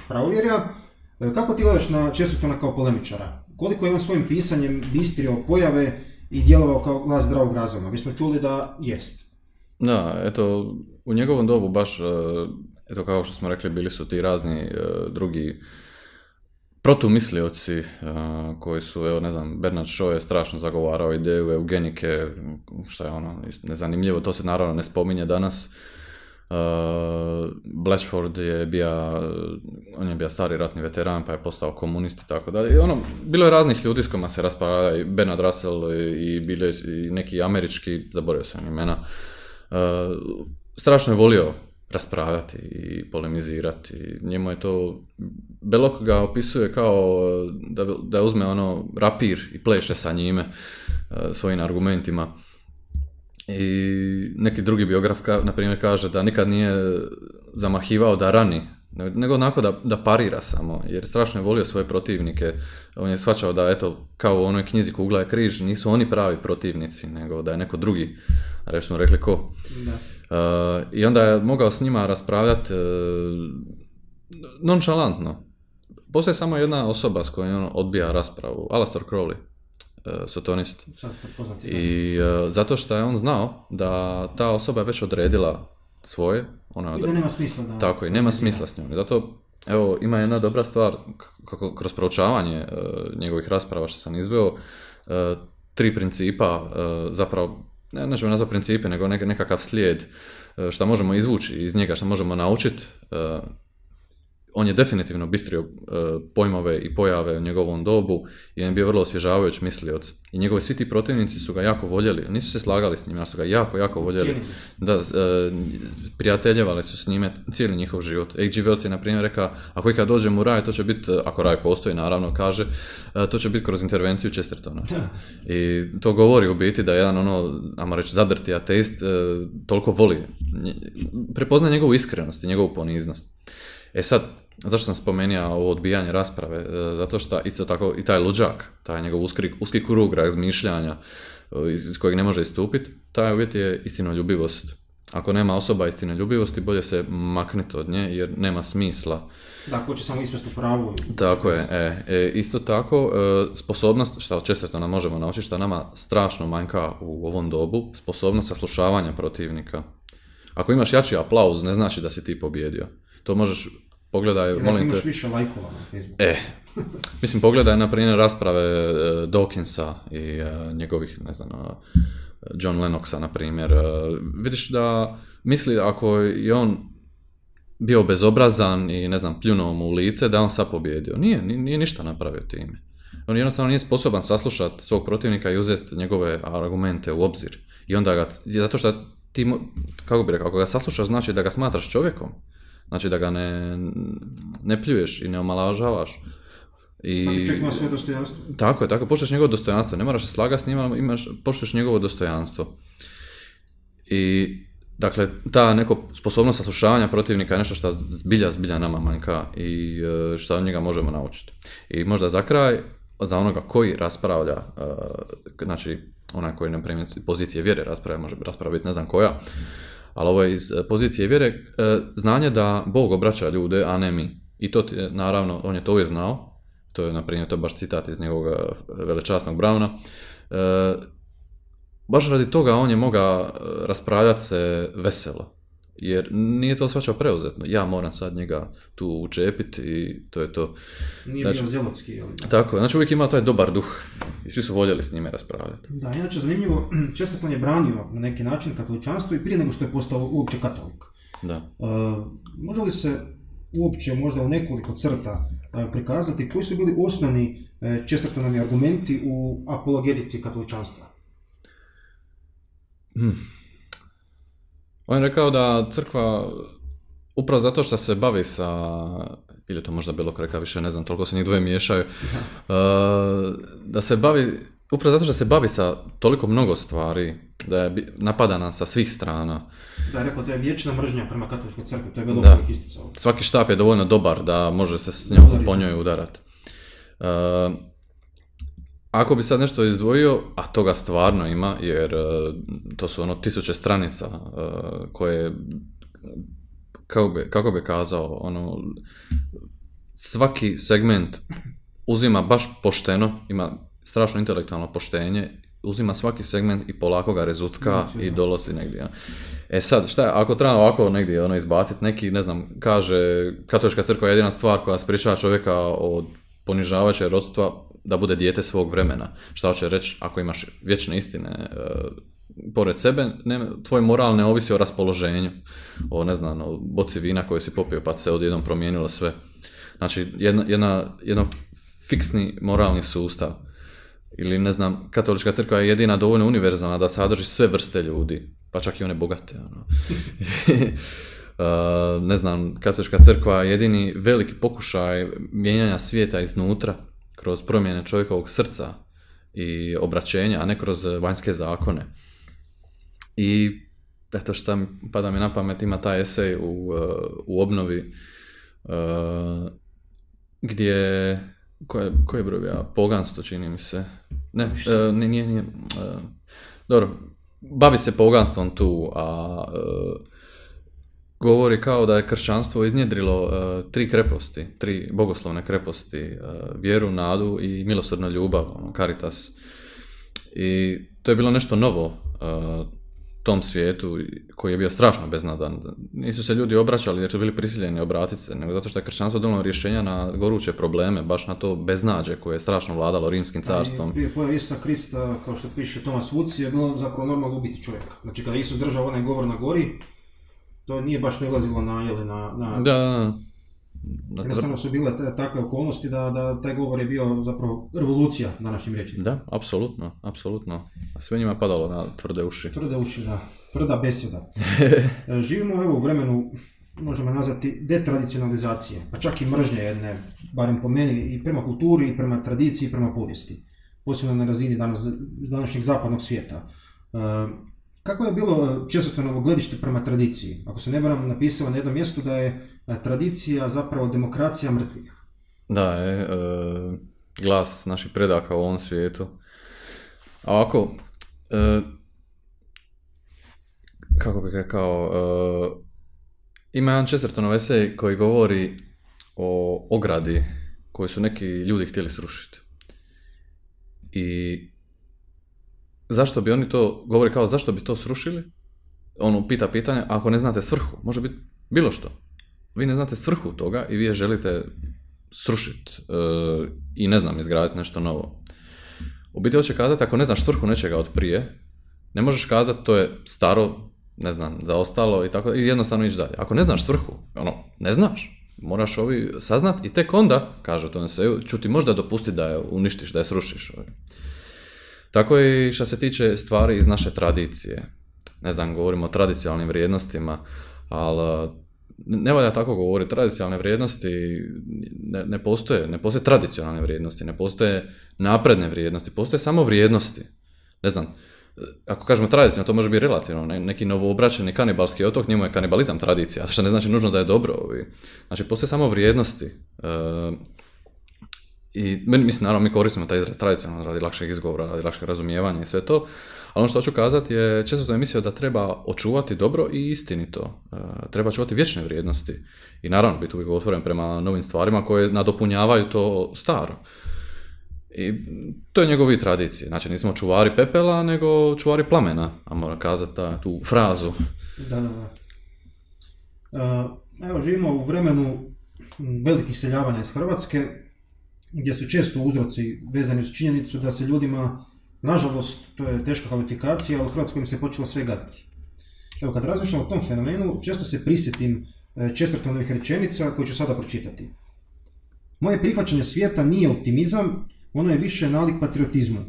pravovjerja. Kako ti gledaš na Chestertona kao polemičara? Koliko je on svojim pisanjem bistrio pojave i djelovao kao glas zdravog razuma? Vi smo čuli da jest. Da, eto, u njegovom dobu baš, eto kao što smo rekli, bili su ti razni drugi protumislioci koji su, evo ne znam, Bernard Shaw je strašno zagovarao ideju eugenike, što je ono nezanimljivo, to se naravno ne spominje danas. Blatchford je bio stari ratni veteran pa je postao komunist i tako dalje. I ono, bilo je raznih ljudi s kojima se raspravlja, i Bernard Russell i bili i neki američki, zaboravio sam imena. Strašno je volio raspravljati i polemizirati. Njemu je to, Belloc ga opisuje kao da uzme ono rapir i pleše sa njime svojim argumentima. I neki drugi biograf, na primjer, kaže da nikad nije zamahivao da rani, nego onako da parira samo, jer strašno je volio svoje protivnike. On je shvaćao da, eto, kao u onoj knjizi Kugla je križ, nisu oni pravi protivnici, nego da je neko drugi, reći smo rekli ko. Da. I onda je mogao s njima raspravljati nonšalantno. Postoji samo jedna osoba s kojom on odbija raspravu, Aleister Crowley. Sotonist. I zato što je on znao da ta osoba je već odredila svoje. I da nema smisla. Da, tako i nema smisla s njom. Zato, evo, ima jedna dobra stvar, kako kroz proučavanje njegovih rasprava što sam izveo, 3 principa, zapravo, ne ćemo nazvati principe, nego nekakav slijed što možemo izvući iz njega, što možemo naučiti. On je definitivno bistrio pojmove i pojave u njegovom dobu i on je bio vrlo osvježavajuć mislioc. I njegovi svi ti protivnici su ga jako voljeli. Nisu se slagali s njim, ali su ga jako, jako voljeli. Da, prijateljevali su s njime cijeli njihov život. H.G. Wells je, na primjer, rekao, ako ikad dođem u raj, to će biti, ako raj postoji, naravno, kaže, to će biti kroz intervenciju Chestertona. I to govori u biti da jedan, ajmo reći, zadrti ateist toliko voli. Prepozna njegovu iskrenost i njegovu poniznost. E sad, zašto sam spomenuo ovo odbijanje rasprave? Zato što isto tako i taj luđak, taj njegov uski krug razmišljanja iz kojeg ne može istupiti, taj uvjet je istinoljubivost. Ako nema osoba istinoljubivosti, bolje se maknuti od nje jer nema smisla. Da, ko će samo ispast u pravu. Tako je. Isto tako, sposobnost, što od Chestertona možemo naučiti, što nama strašno manjka u ovom dobu, sposobnost saslušavanja protivnika. Ako imaš jači aplauz, ne znači da si ti pobjedio. To možeš, pogledaj, molim te... imaš više lajkova na Facebooku. Mislim, pogledaj, na primjer, rasprave Dawkinsa i njegovih, ne znam, John Lennoxa, na primjer. Vidiš da misli, ako je on bio bezobrazan i, ne znam, pljunuo mu u lice, da on sad pobjedio. Nije ništa napravio time. On jednostavno nije sposoban saslušati svog protivnika i uzeti njegove argumente u obzir. I onda ga, zato što ti, kako bi rekao, ako ga saslušaš, znači da ga smatraš čovjekom. Znači da ga ne pljuješ i ne omalažavaš. Svaki čovjek ima svoje dostojanstvo. Tako je, poštuješ njegovo dostojanstvo. Ne moraš se slagati s njima, ali poštuješ njegovo dostojanstvo. I, dakle, ta neko sposobnost saslušavanja protivnika je nešto što zbilja nama manjka i što od njega možemo naučiti. I možda za kraj, za onoga koji raspravlja, znači onaj koji na primjer pozicije vjere raspravlja, može raspraviti ne znam koja, ali ovo je iz pozicije vjere, znanje da Bog obraća ljude, a ne mi. I to naravno, on je to uvijek znao, to je na primjer, to je baš citat iz njegovog velečasnog Brauna, baš radi toga on je mogao raspravljati se veselo, jer nije to shvaćao preuzetno. Ja moram sad njega tu učepiti i to je to. Nije bio zelotski. Ali... Tako, znači uvijek ima taj dobar duh i svi su voljeli s njime raspravljati. Da, inače zanimljivo, Chesterton je branio na neki način katoličanstvo i prije nego što je postao uopće katolik. Da. Može li se uopće možda u nekoliko crta prikazati koji su bili osnovni Chestertonovi argumenti u apologetici katoličanstva? On je rekao da crkva, upravo zato što se bavi sa, ili to možda bilo reka više, ne znam, toliko se njih dvoje miješaju, da se bavi, upravo zato što se bavi sa toliko mnogo stvari, da je napadana sa svih strana. Da je rekao, to je vječna mržnja prema katoličkoj crkvi, to je bilo uvijek isticalo. Svaki štap je dovoljno dobar da može se s njom po njoj udarati. Ako bi sad nešto izdvojio, a toga stvarno ima, jer to su 1000 stranica koje, kako bi kazao, svaki segment uzima baš pošteno, ima strašno intelektualno poštenje, uzima svaki segment i polako ga rezucka i dolazi negdje. E sad, šta je, ako treba ovako negdje izbaciti, neki, ne znam, kaže katolička crkva je jedina stvar koja sprječava čovjeka od ponižavajućeg rodstva da bude dijete svog vremena. Šta hoće reći, ako imaš vječne istine pored sebe, tvoj moral ne ovisi o raspoloženju, o boci vina koju si popio pa se odjednom promijenilo sve. Znači, jedan fiksni moralni sustav. Ili, ne znam, katolička crkva je jedina dovoljno univerzalna da sadrži sve vrste ljudi, pa čak i one bogate. Ne znam, katolička crkva je jedini veliki pokušaj mijenjanja svijeta iznutra kroz promjene čovjekovog srca i obraćenja, a ne kroz vanjske zakone. I eto šta pada mi na pamet, ima taj esej u obnovi gdje, koji je broj ja? Poganstvo, čini mi se. Nije. Dobro, bavi se poganstvom tu, a govori kao da je kršćanstvo iznjedrilo 3 kreposti, 3 bogoslovne kreposti, vjeru, nadu i milosrdnu ljubav, caritas. I to je bilo nešto novo tom svijetu koji je bio strašno beznadan. Nisu se ljudi obraćali jer su bili prisiljeni obratiti se, nego zato što je kršćanstvo donijelo rješenja na goruće probleme, baš na to beznađe koje je strašno vladalo Rimskim carstvom. Prije pojave Isusa Krista, kao što piše Thomas Woods, je bilo zapravo normalno ubiti čovjeka. Znači kada Isus držao onaj govor na gori, to nije baš nalazilo na... Da. Jednostavno su bile takve okolnosti da taj govor je bio zapravo revolucija današnjim riječima. Da, apsolutno. A sve njima padalo na tvrde uši. Tvrde uši, da. Tvrda besjeda. Živimo u vremenu, možemo nazvati, detradicionalizacije, pa čak i mržnje jedne, barem po meni, i prema kulturi, i prema tradiciji, i prema povijesti. Posebno na razini današnjeg zapadnog svijeta. Kako je bilo Chestertonovo gledište prema tradiciji? Ako se ne varam, napisao na jednom mjestu da je tradicija zapravo demokracija mrtvih. Da, glas naših predaka u ovom svijetu. A ovako, kako bih rekao, ima jedan Chestertonov esej koji govori o ogradi koju su neki ljudi htjeli srušiti. I zašto bi oni to, govori kao zašto bi to srušili? On pita pitanje, ako ne znate svrhu, može biti bilo što. Vi ne znate svrhu toga i vi je želite srušiti i ne znam, izgraditi nešto novo. U biti hoće kazati, ako ne znaš svrhu nečega od prije, ne možeš kazati to je staro, ne znam, zaostalo i tako, i jednostavno ići dalje. Ako ne znaš svrhu, ne znaš, moraš ovi saznat i tek onda, kaže u tom eseju, ću ti možda dopustiti da je uništiš, da je srušiš. Tako je i što se tiče stvari iz naše tradicije. Ne znam, govorimo o tradicionalnim vrijednostima, ali ne valja tako govoriti. Tradicionalne vrijednosti ne postoje tradicionalne vrijednosti, ne postoje napredne vrijednosti, postoje samo vrijednosti. Ne znam, ako kažemo tradicionalno, to može biti relativno. Neki novoobraćeni kanibalski otok, njemu je kanibalizam tradicija, što ne znači nužno da je dobro. Znači, postoje samo vrijednosti. I mislim, naravno, mi koristimo taj izraz tradicionalno radi lakšeg izgovora, radi lakšeg razumijevanja i sve to, ali ono što hoću kazati je, često sam mislio da treba očuvati dobro i istinito. Treba čuvati vječne vrijednosti. I naravno, biti uvijek otvoren prema novim stvarima koje nadopunjavaju to staro. I to je njegovi tradicije. Znači, nismo čuvari pepela, nego čuvari plamena, a moram kazati tu frazu. Da. Evo, živimo u vremenu velikih seljavanja iz Hrvatske, gdje su često uzroci vezani uz činjenicu da se ljudima, nažalost, to je teška kvalifikacija, ali u Hrvatskoj im se počelo sve gaditi. Evo, kad razmišljam o tom fenomenu, često se prisjetim Chestertonovih rečenica koje ću sada pročitati. Moje prihvaćanje svijeta nije optimizam, ono je više nalik patriotizmu.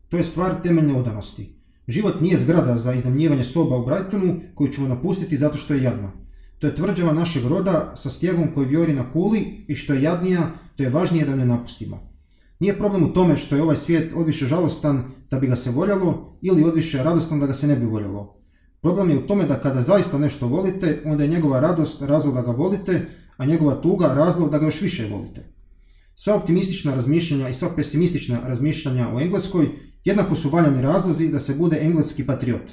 To je stvar temeljne odanosti. Život nije zgrada za iznajmljivanje soba u Brightonu koju ćemo napustiti zato što je jadna. To je tvrđava našeg roda sa stjegom koji vjori na kuli i što je jadnija, to je važnije da ne napustimo. Nije problem u tome što je ovaj svijet odviše žalostan da bi ga se voljelo ili odviše radostan da ga se ne bi voljelo. Problem je u tome da kada zaista nešto volite, onda je njegova radost razlog da ga volite, a njegova tuga razlog da ga još više volite. Sva optimistična razmišljanja i sva pesimistična razmišljanja o Engleskoj jednako su valjani razlozi da se bude engleski patriot.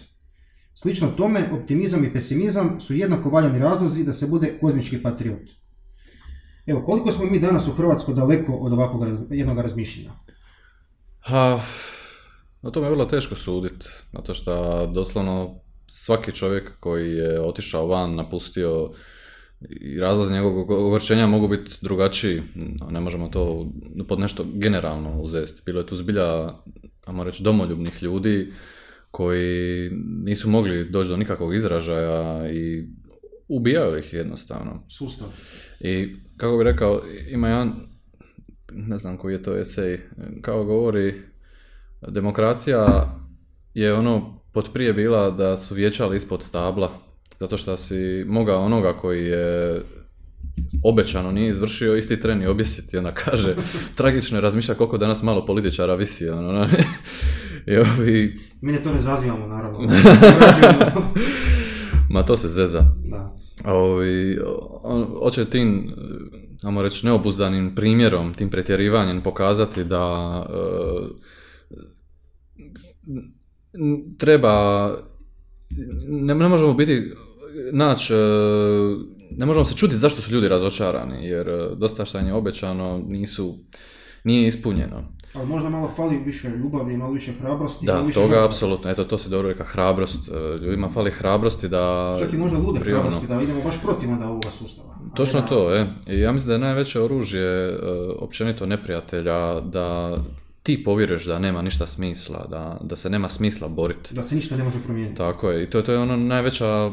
Slično tome, optimizam i pesimizam su jednako valjani razlozi da se bude kozmički patriot. Evo, koliko smo mi danas u Hrvatskoj daleko od ovakvog jednog razmišljenja? O tome je vrlo teško suditi, zato što doslovno svaki čovjek koji je otišao van, napustio, i razlozi njegovog ogorčenja mogu biti drugačiji, ne možemo to pod nešto generalno uzeti. Bilo je tu zbilja, ajmo reći, domoljubnih ljudi koji nisu mogli doći do nikakvog izražaja i ubijaju ih jednostavno. Sustav. I kako bih rekao, ima jedan, ne znam koji je to esej, kao govori, demokracija je ono potprije bila da su vijećali ispod stabla, zato što si mogao onoga koji je obećano nije izvršio isti tren i objesiti. Onda kaže, tragično je razmišljati koliko danas malo političara visi. Mi to ne zazivamo, naravno. Ma to se zeza. Da. Hoće tim, ajmo reći, neobuzdanim primjerom, tim pretjerivanjem pokazati da treba, ne možemo biti, ne možemo se čuditi zašto su ljudi razočarani, jer dosta šta je obećano nije ispunjeno. Ali možda malo fali više ljubavi, malo više hrabrosti. Da, više toga žrtva. Apsolutno, eto to se dobro reka, hrabrost, ljudima fali hrabrosti da... Čak i možda lude hrabrosti, da idemo baš protiv onda ovoga sustava. Točno to, I ja mislim da je najveće oružje općenito neprijatelja da ti povjeruješ da nema ništa smisla, da se nema smisla boriti. Da se ništa ne može promijeniti. Tako je, i to je ono najveća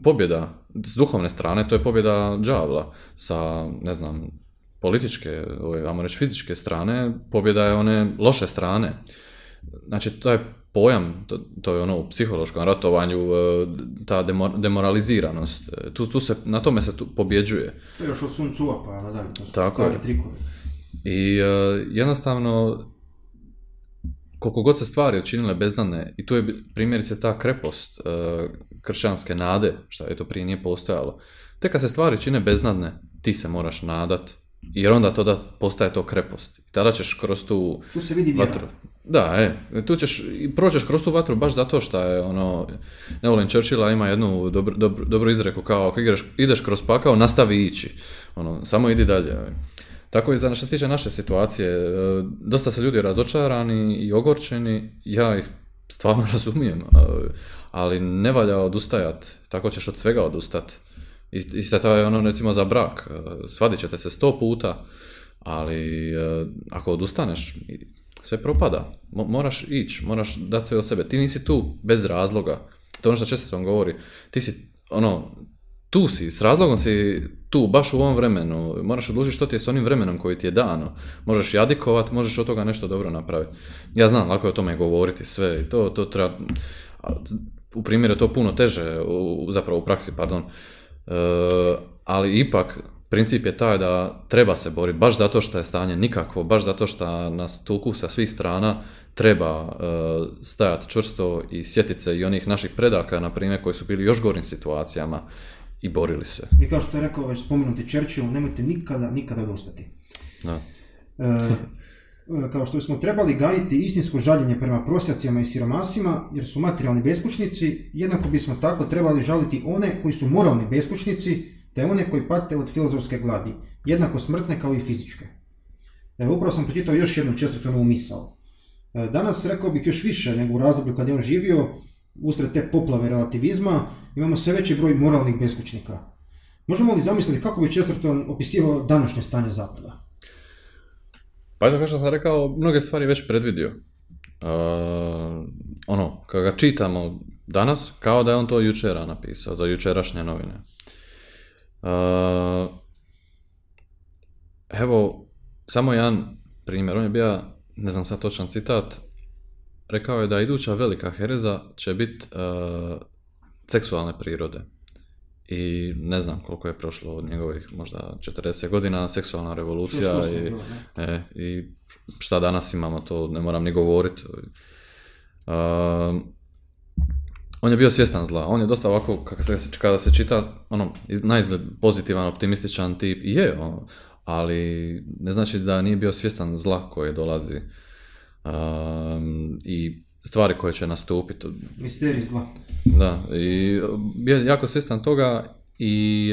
pobjeda s duhovne strane, to je pobjeda đavla. Sa, ne znam, političke, ajmo reći fizičke strane, pobjeda je one loše strane. Znači, to je pojam, to je ono u psihološkom ratovanju, ta demoraliziranost. Na tome se pobjeđuje. To je još od Sun Tzu-a pa nadalje, to su stvari trikovi. I jednostavno, koliko god se stvari učinile beznadne, i tu je primjerice ta krepost kršćanske nade, što je to prije nije postojalo. Tek kad se stvari čine beznadne, ti se moraš nadat, jer onda to da postaje to krepost. I tada ćeš kroz tu se vidi vjera. vatru. Da, tu proćeš kroz tu vatru baš zato što je ne volim Churchilla, ima jednu dobru izreku kao ako ideš kroz pakao, nastavi ići. Samo idi dalje. Tako i što se tiče naše situacije, dosta se ljudi razočarani i ogorčeni, ja ih stvarno razumijem, ali ne valja odustajati, tako ćeš od svega odustati. Isto to je recimo za brak, svadit ćete se 100 puta, ali ako odustaneš, sve propada, moraš ići, moraš dati sve od sebe, ti nisi tu bez razloga, to je ono što Chesterton govori, ti si tu si, s razlogom si tu, baš u ovom vremenu, moraš odlučiti što ti je s onim vremenom koji ti je dano. Možeš jadikovat, možeš od toga nešto dobro napraviti. Ja znam, lako je o tome govoriti sve i to treba, u primjeru je to puno teže, zapravo u praksi, pardon, ali ipak princip je taj da treba se boriti, baš zato što je stanje nikakvo, baš zato što nas tuku sa svih strana, treba stajati čvrsto i sjetiti se i onih naših predaka, na primjer, koji su bili još gorim situacijama i borili se. I kao što je rekao već spomenuti Churchill, nemojte nikada odustati. Da. Kao što smo trebali gajiti istinsko žaljenje prema prosjacima i siromasima, jer su materijalni beskućnici, jednako bismo tako trebali žaliti one koji su moralni beskućnici, te one koji pate od filozofske gladi, jednako smrtne kao i fizičke. Upravo sam pročitao još jednu Chestertonovu misao. Danas, rekao bih, još više nego u razdoblju kad je on živio, usred te poplave relativizma, imamo sve veći broj moralnih beskućnika. Možemo li zamisliti kako bi Chesterton opisivao današnje stanje Zapada? Pa eto, kao što sam rekao, mnoge stvari već predvidio. Kada ga čitamo danas, kao da je on to jučera napisao, za jučerašnje novine. Evo, samo jedan primjer, on je bio, ne znam sad točan citat, rekao je da iduća velika hereza će biti seksualne prirode. I ne znam koliko je prošlo od njegovih možda 40 godina, seksualna revolucija i šta danas imamo, to ne moram ni govoriti. On je bio svjestan zla, on je dosta ovako, kada se čita, naizgled pozitivan, optimističan tip, ali ne znači da nije bio svjestan zla koje dolazi i stvari koje će nastupiti. Misterij zla. Da, i bio je jako svjestan toga i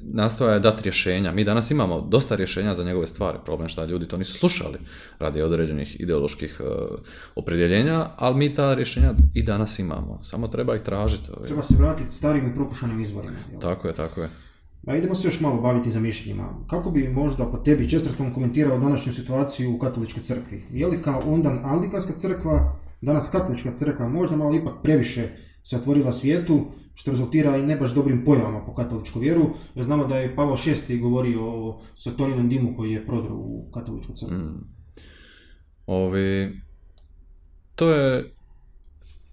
nastoja je dati rješenja. Mi danas imamo dosta rješenja za njegove stvari, problem što ljudi to nisu slušali radi određenih ideoloških opredjeljenja, ali mi ta rješenja i danas imamo, samo treba ih tražiti. Treba se vratiti starim i prokušanim izvorima. Jel? Tako je. A idemo se još malo baviti zamišljenjima. Kako bi možda po tebi Chesterton komentirao današnju situaciju u katoličkoj crkvi? Je li kao ondan anglikanska crkva, danas katolička crkva možda malo ipak previše se otvorila svijetu, što rezultira i ne baš dobrim pojavama po katoličku vjeru, jer znamo da je Pavao VI govorio o satoninom dimu koji je prodro u katoličku crkvu. To je,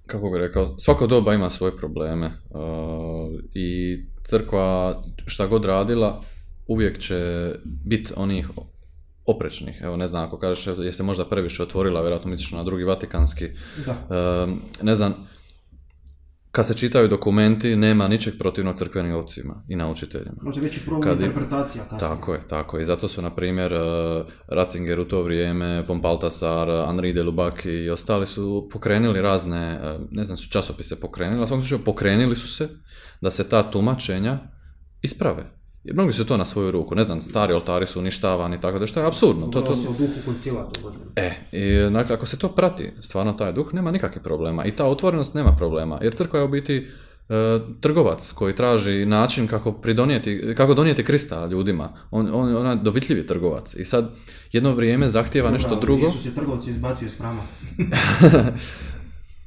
kako bih rekao, svako doba ima svoje probleme i crkva šta god radila uvijek će biti onih oprečnih. Evo, ne znam, ako kažeš je se možda previše otvorila, vjerojatno misliš na drugi vatikanski. Ne znam, kad se čitaju dokumenti, nema ničeg protivno crkvenim ocima i naučiteljima. Može veći problem interpretacija kasnije. Tako je. I zato su, na primjer, Ratzinger u to vrijeme, von Balthasar, Henri de Lubac i ostali su pokrenuli razne, ne znam, su časopise pokrenuli, ali u svakom slučaju pokrenuli su se da se ta tumačenja isprave. Jer mnogi su to na svoju ruku, ne znam, stari oltari su uništavani, tako da što je apsurdno. To se u duhu koncila to možda. Dakle, ako se to prati, stvarno taj duh, nema nikakvih problema. I ta otvorenost nema problema, jer crkva je u biti trgovac koji traži način kako donijeti Krista ljudima. On je dovitljivi trgovac. I sad jedno vrijeme zahtijeva nešto drugo. Isus je trgovci izbacio iz hrama.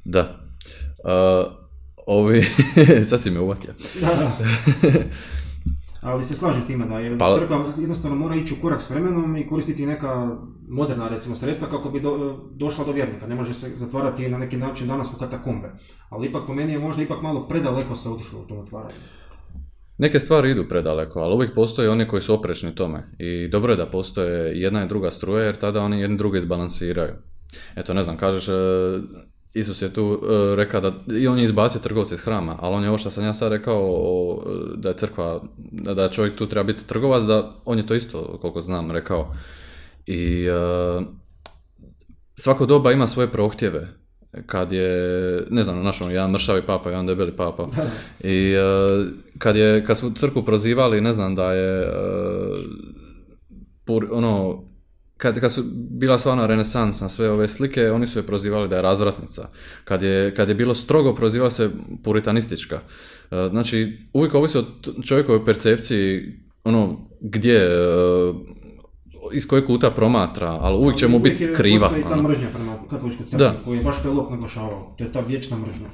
Da. Sad si me uvatio. Da. Ali se slažem s time da je crkva jednostavno mora ići u korak s vremenom i koristiti neka moderna, recimo, sredstva kako bi došla do vjernika. Ne može se zatvarati na neki način danas u katakombe. Ali ipak po meni je možda ipak malo predaleko se otišlo u tom otvaranju. Neke stvari idu predaleko, ali uvijek postoje oni koji su oprečni tome. I dobro je da postoje jedna i druga struja, jer tada oni jedni druge izbalansiraju. Eto, ne znam, kažeš, Isus je tu rekao da i on je izbacio trgovce iz hrama, ali on je ovo što sam ja sad rekao da je crkva, da čovjek tu treba biti trgovac, da on je to isto, koliko znam, rekao. I svako doba ima svoje prohtjeve. Kad je, ne znam, našao jedan mršavi papa, jedan debeli papa. I kad su crkvu prozivali, ne znam, da je kad su bila stvarno renesans na sve ove slike, oni su je prozivali da je razvratnica. Kad je bilo strogo, prozivali se puritanistička. Znači, uvijek ovisi o čovjekovoj percepciji, gdje, iz kojeg kuta promatra, ali uvijek će mu biti kriva. Postoji ta mržnja prema katoličkoj crkvi, koju je baš Pelop naglašavao. To je ta vječna mržnja.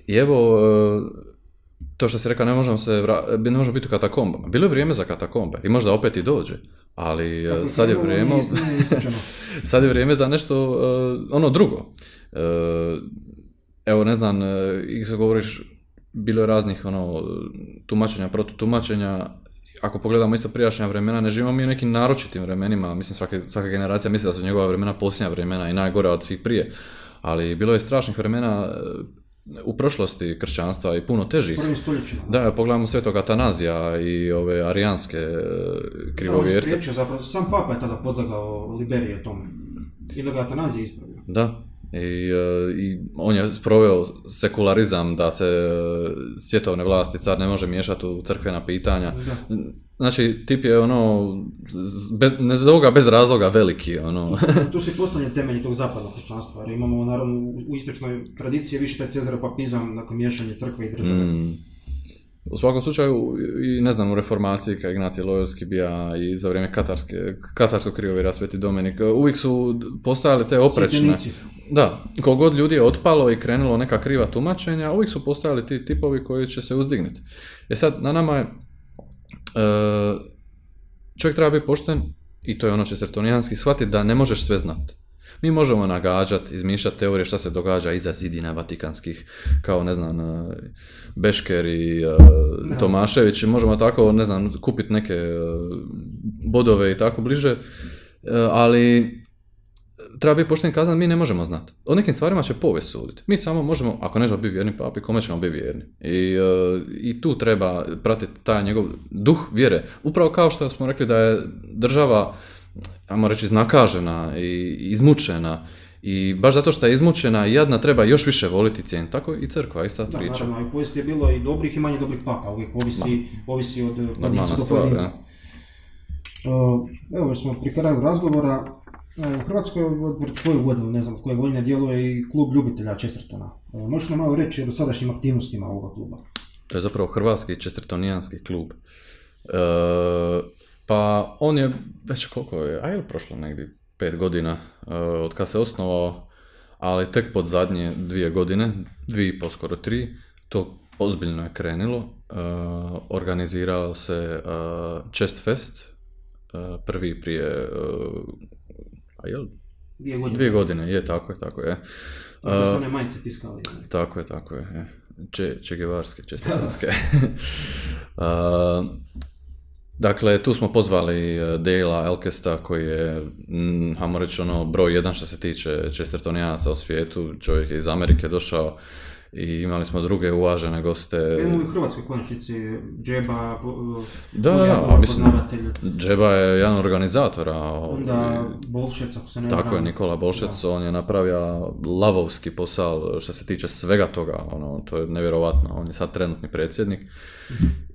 I evo, to što si rekao, ne možemo biti u katakombama. Bilo je vrijeme za katakombe i možda opet i dođe, ali sad je vrijeme sad je vrijeme za nešto ono drugo. Evo, ne znam, i govoriš, bilo je raznih tumačenja, protutumačenja. Ako pogledamo isto prijašnja vremena, ne živimo mi u nekim naročitim vremenima, mislim svaka generacija misli da su njegova vremena posljednja vremena i najgora od svih prije, ali bilo je strašnih vremena u prošlosti kršćanstva i puno težih. Prvim stoljećima. Da, pogledamo svetog Atanazija i ove arijanske krivovjerce. Zapravo, sam papa je tada podlegao Liberije tome. I da ga Atanazije ispravio. Da. I on je sproveo sekularizam, da se svjetovne vlasti, car ne može miješati u crkvena pitanja. Da. Znači, tip je bez razloga veliki. Tu se postavlja temelji tog zapadnog kršćanstva, jer imamo naravno u istočnoj tradiciji više taj cezaropapizam, nakon miješanje crkve i države. U svakom slučaju, i ne znam, u reformaciji, kad Ignacije Loyolski bija i za vrijeme katarskog krivovjera Sveti Dominik, uvijek su postojale te oprečne. Svjetljenici. Da, koliko god ljudi je otpalo i krenulo neka kriva tumačenja, uvijek su postojali ti tipovi koji će se uzdigniti. Sad, na nama je, čovjek treba biti pošten, i to je ono čestertonijanski, shvatiti da ne možeš sve znati. Mi možemo nagađati, izmišljati teorije šta se događa iza zidina vatikanskih, kao, ne znam, Bešker i Tomašević, možemo tako, ne znam, kupiti neke bodove i tako bliže, ali treba biti pošten kazan, mi ne možemo znati. O nekim stvarima će povijest suditi. Mi samo možemo, ako nećemo biti vjerni papi, kome ćemo biti vjerni. I tu treba pratiti taj njegov duh vjere. Upravo kao što smo rekli da je država, ajmo reći, iznakažena i izmučena. I baš zato što je izmučena i jadna treba još više voliti i cijeniti. Tako i crkva, ista priča. Da, naravno, i u povijesti je bilo i dobrih i manje dobrih papa. Uvijek ovisi od pojedinca do pojedinca. Evo smo pri kraju razgovora. U Hrvatskoj od koju godinu, ne znam od koje godine, djeluje i klub ljubitelja Chestertona. Možeš nam malo reći o dosadašnjim aktivnostima ovoga kluba? To je zapravo hrvatski chestertonijanski klub. Pa on je već koliko je, prošlo negdje 5 godina od kad se osnovao, ali tek pod zadnje 2 godine, 2,5 skoro 3, to ozbiljno je krenulo. Organizirao se Chest Fest, prvi prije 2 godine, je, tako je. Da su one majice tiskali. Tako je. Čegevarske, čestitanske. Dakle, tu smo pozvali Dale'a Elkesta, koji je, hajmo reći, broj 1 što se tiče chestertonijanaca u svijetu. Čovjek je iz Amerike došao i imali smo druge uvažene goste. Imamo u Hrvatskoj konačnici Džeba, poznavatelj. Džeba je jedan organizatora. Da, Bolšec, ako se ne Tako je, Nikola Bolšec, on je napravio lavovski posao što se tiče svega toga, to je nevjerovatno. On je sad trenutni predsjednik.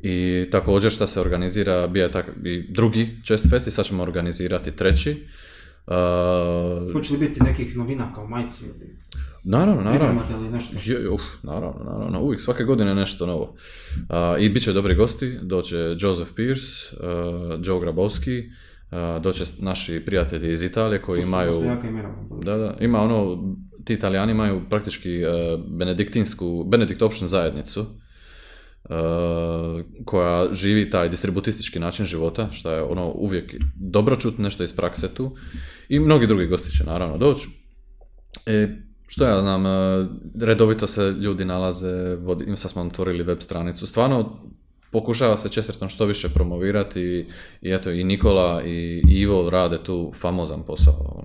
I također što se organizira, bio je i drugi Chest Fest i sad ćemo organizirati treći. Hoće li biti nekih novina kao majci? Naravno. Naravno, Uvijek svake godine nešto novo. I bit će dobri gosti, doće Joseph Pierce, Joe Grabowski, doće naši prijatelji iz Italije koji imaju... Ima ti Italijani imaju praktički benediktopšnu zajednicu, koja živi taj distributistički način života, što je uvijek dobro čuti nešto iz prakse tu. I mnogi drugi gosti će naravno doći. Što ja znam, redovito se ljudi nalaze, sad smo otvorili web stranicu, stvarno pokušava se Chesterton što više promovirati i eto, i Nikola i Ivo rade tu famozan posao.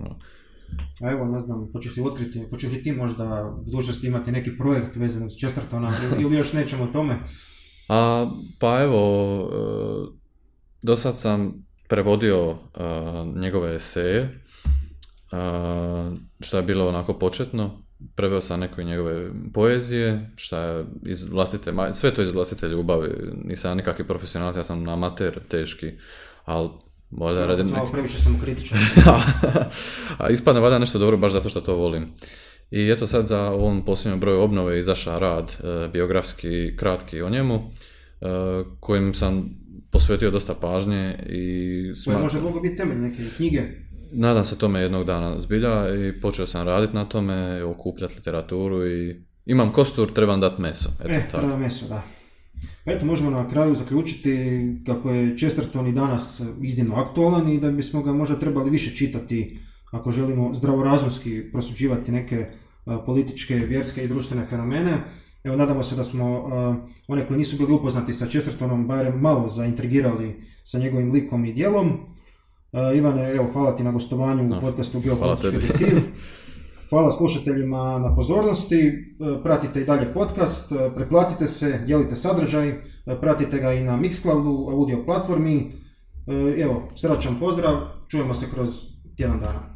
A evo, ne znam, hoćeš li otkriti, hoćeš li ti možda u budućnosti imati neki projekt vezan uz Chestertona ili još nećemo o tome? Pa evo, do sad sam prevodio njegove eseje, što je bilo onako početno. Preveo sam neke njegove poezije, što je iz vlastite, sve to iz vlastite ljubavi. Nisam ja nikakvi profesionalac, ja sam amater teški, ali valjda radim neki... Previše sam kritičan. A ispadne valjda nešto dobro baš zato što to volim. I eto sad za ovom posljednjom broju obnove izašao rad, biografski kratki o njemu, kojim sam posvetio dosta pažnje i smatram... Može mogu biti temelj neke knjige? Nadam se tome jednog dana zbilja i počeo sam raditi na tome, okupljati literaturu i imam kostur, trebam dati meso. Treba meso, da. Pa eto, možemo na kraju zaključiti kako je Chesterton i danas iznimno aktualan i da bismo ga možda trebali više čitati ako želimo zdravorazumski prosuđivati neke političke, vjerske i društvene fenomene. Evo, nadamo se da smo one koji nisu bili upoznati sa Chestertonom barem malo zaintrigirali sa njegovim likom i djelom. Ivane, evo, hvala ti na gostovanju u podcastu Geopolitički objektiv. Hvala slušateljima na pozornosti, pratite i dalje podcast, pretplatite se, dijelite sadržaj, pratite ga i na Mixcloudu, audio platformi. Evo, srdačan pozdrav, čujemo se kroz tjedan dana.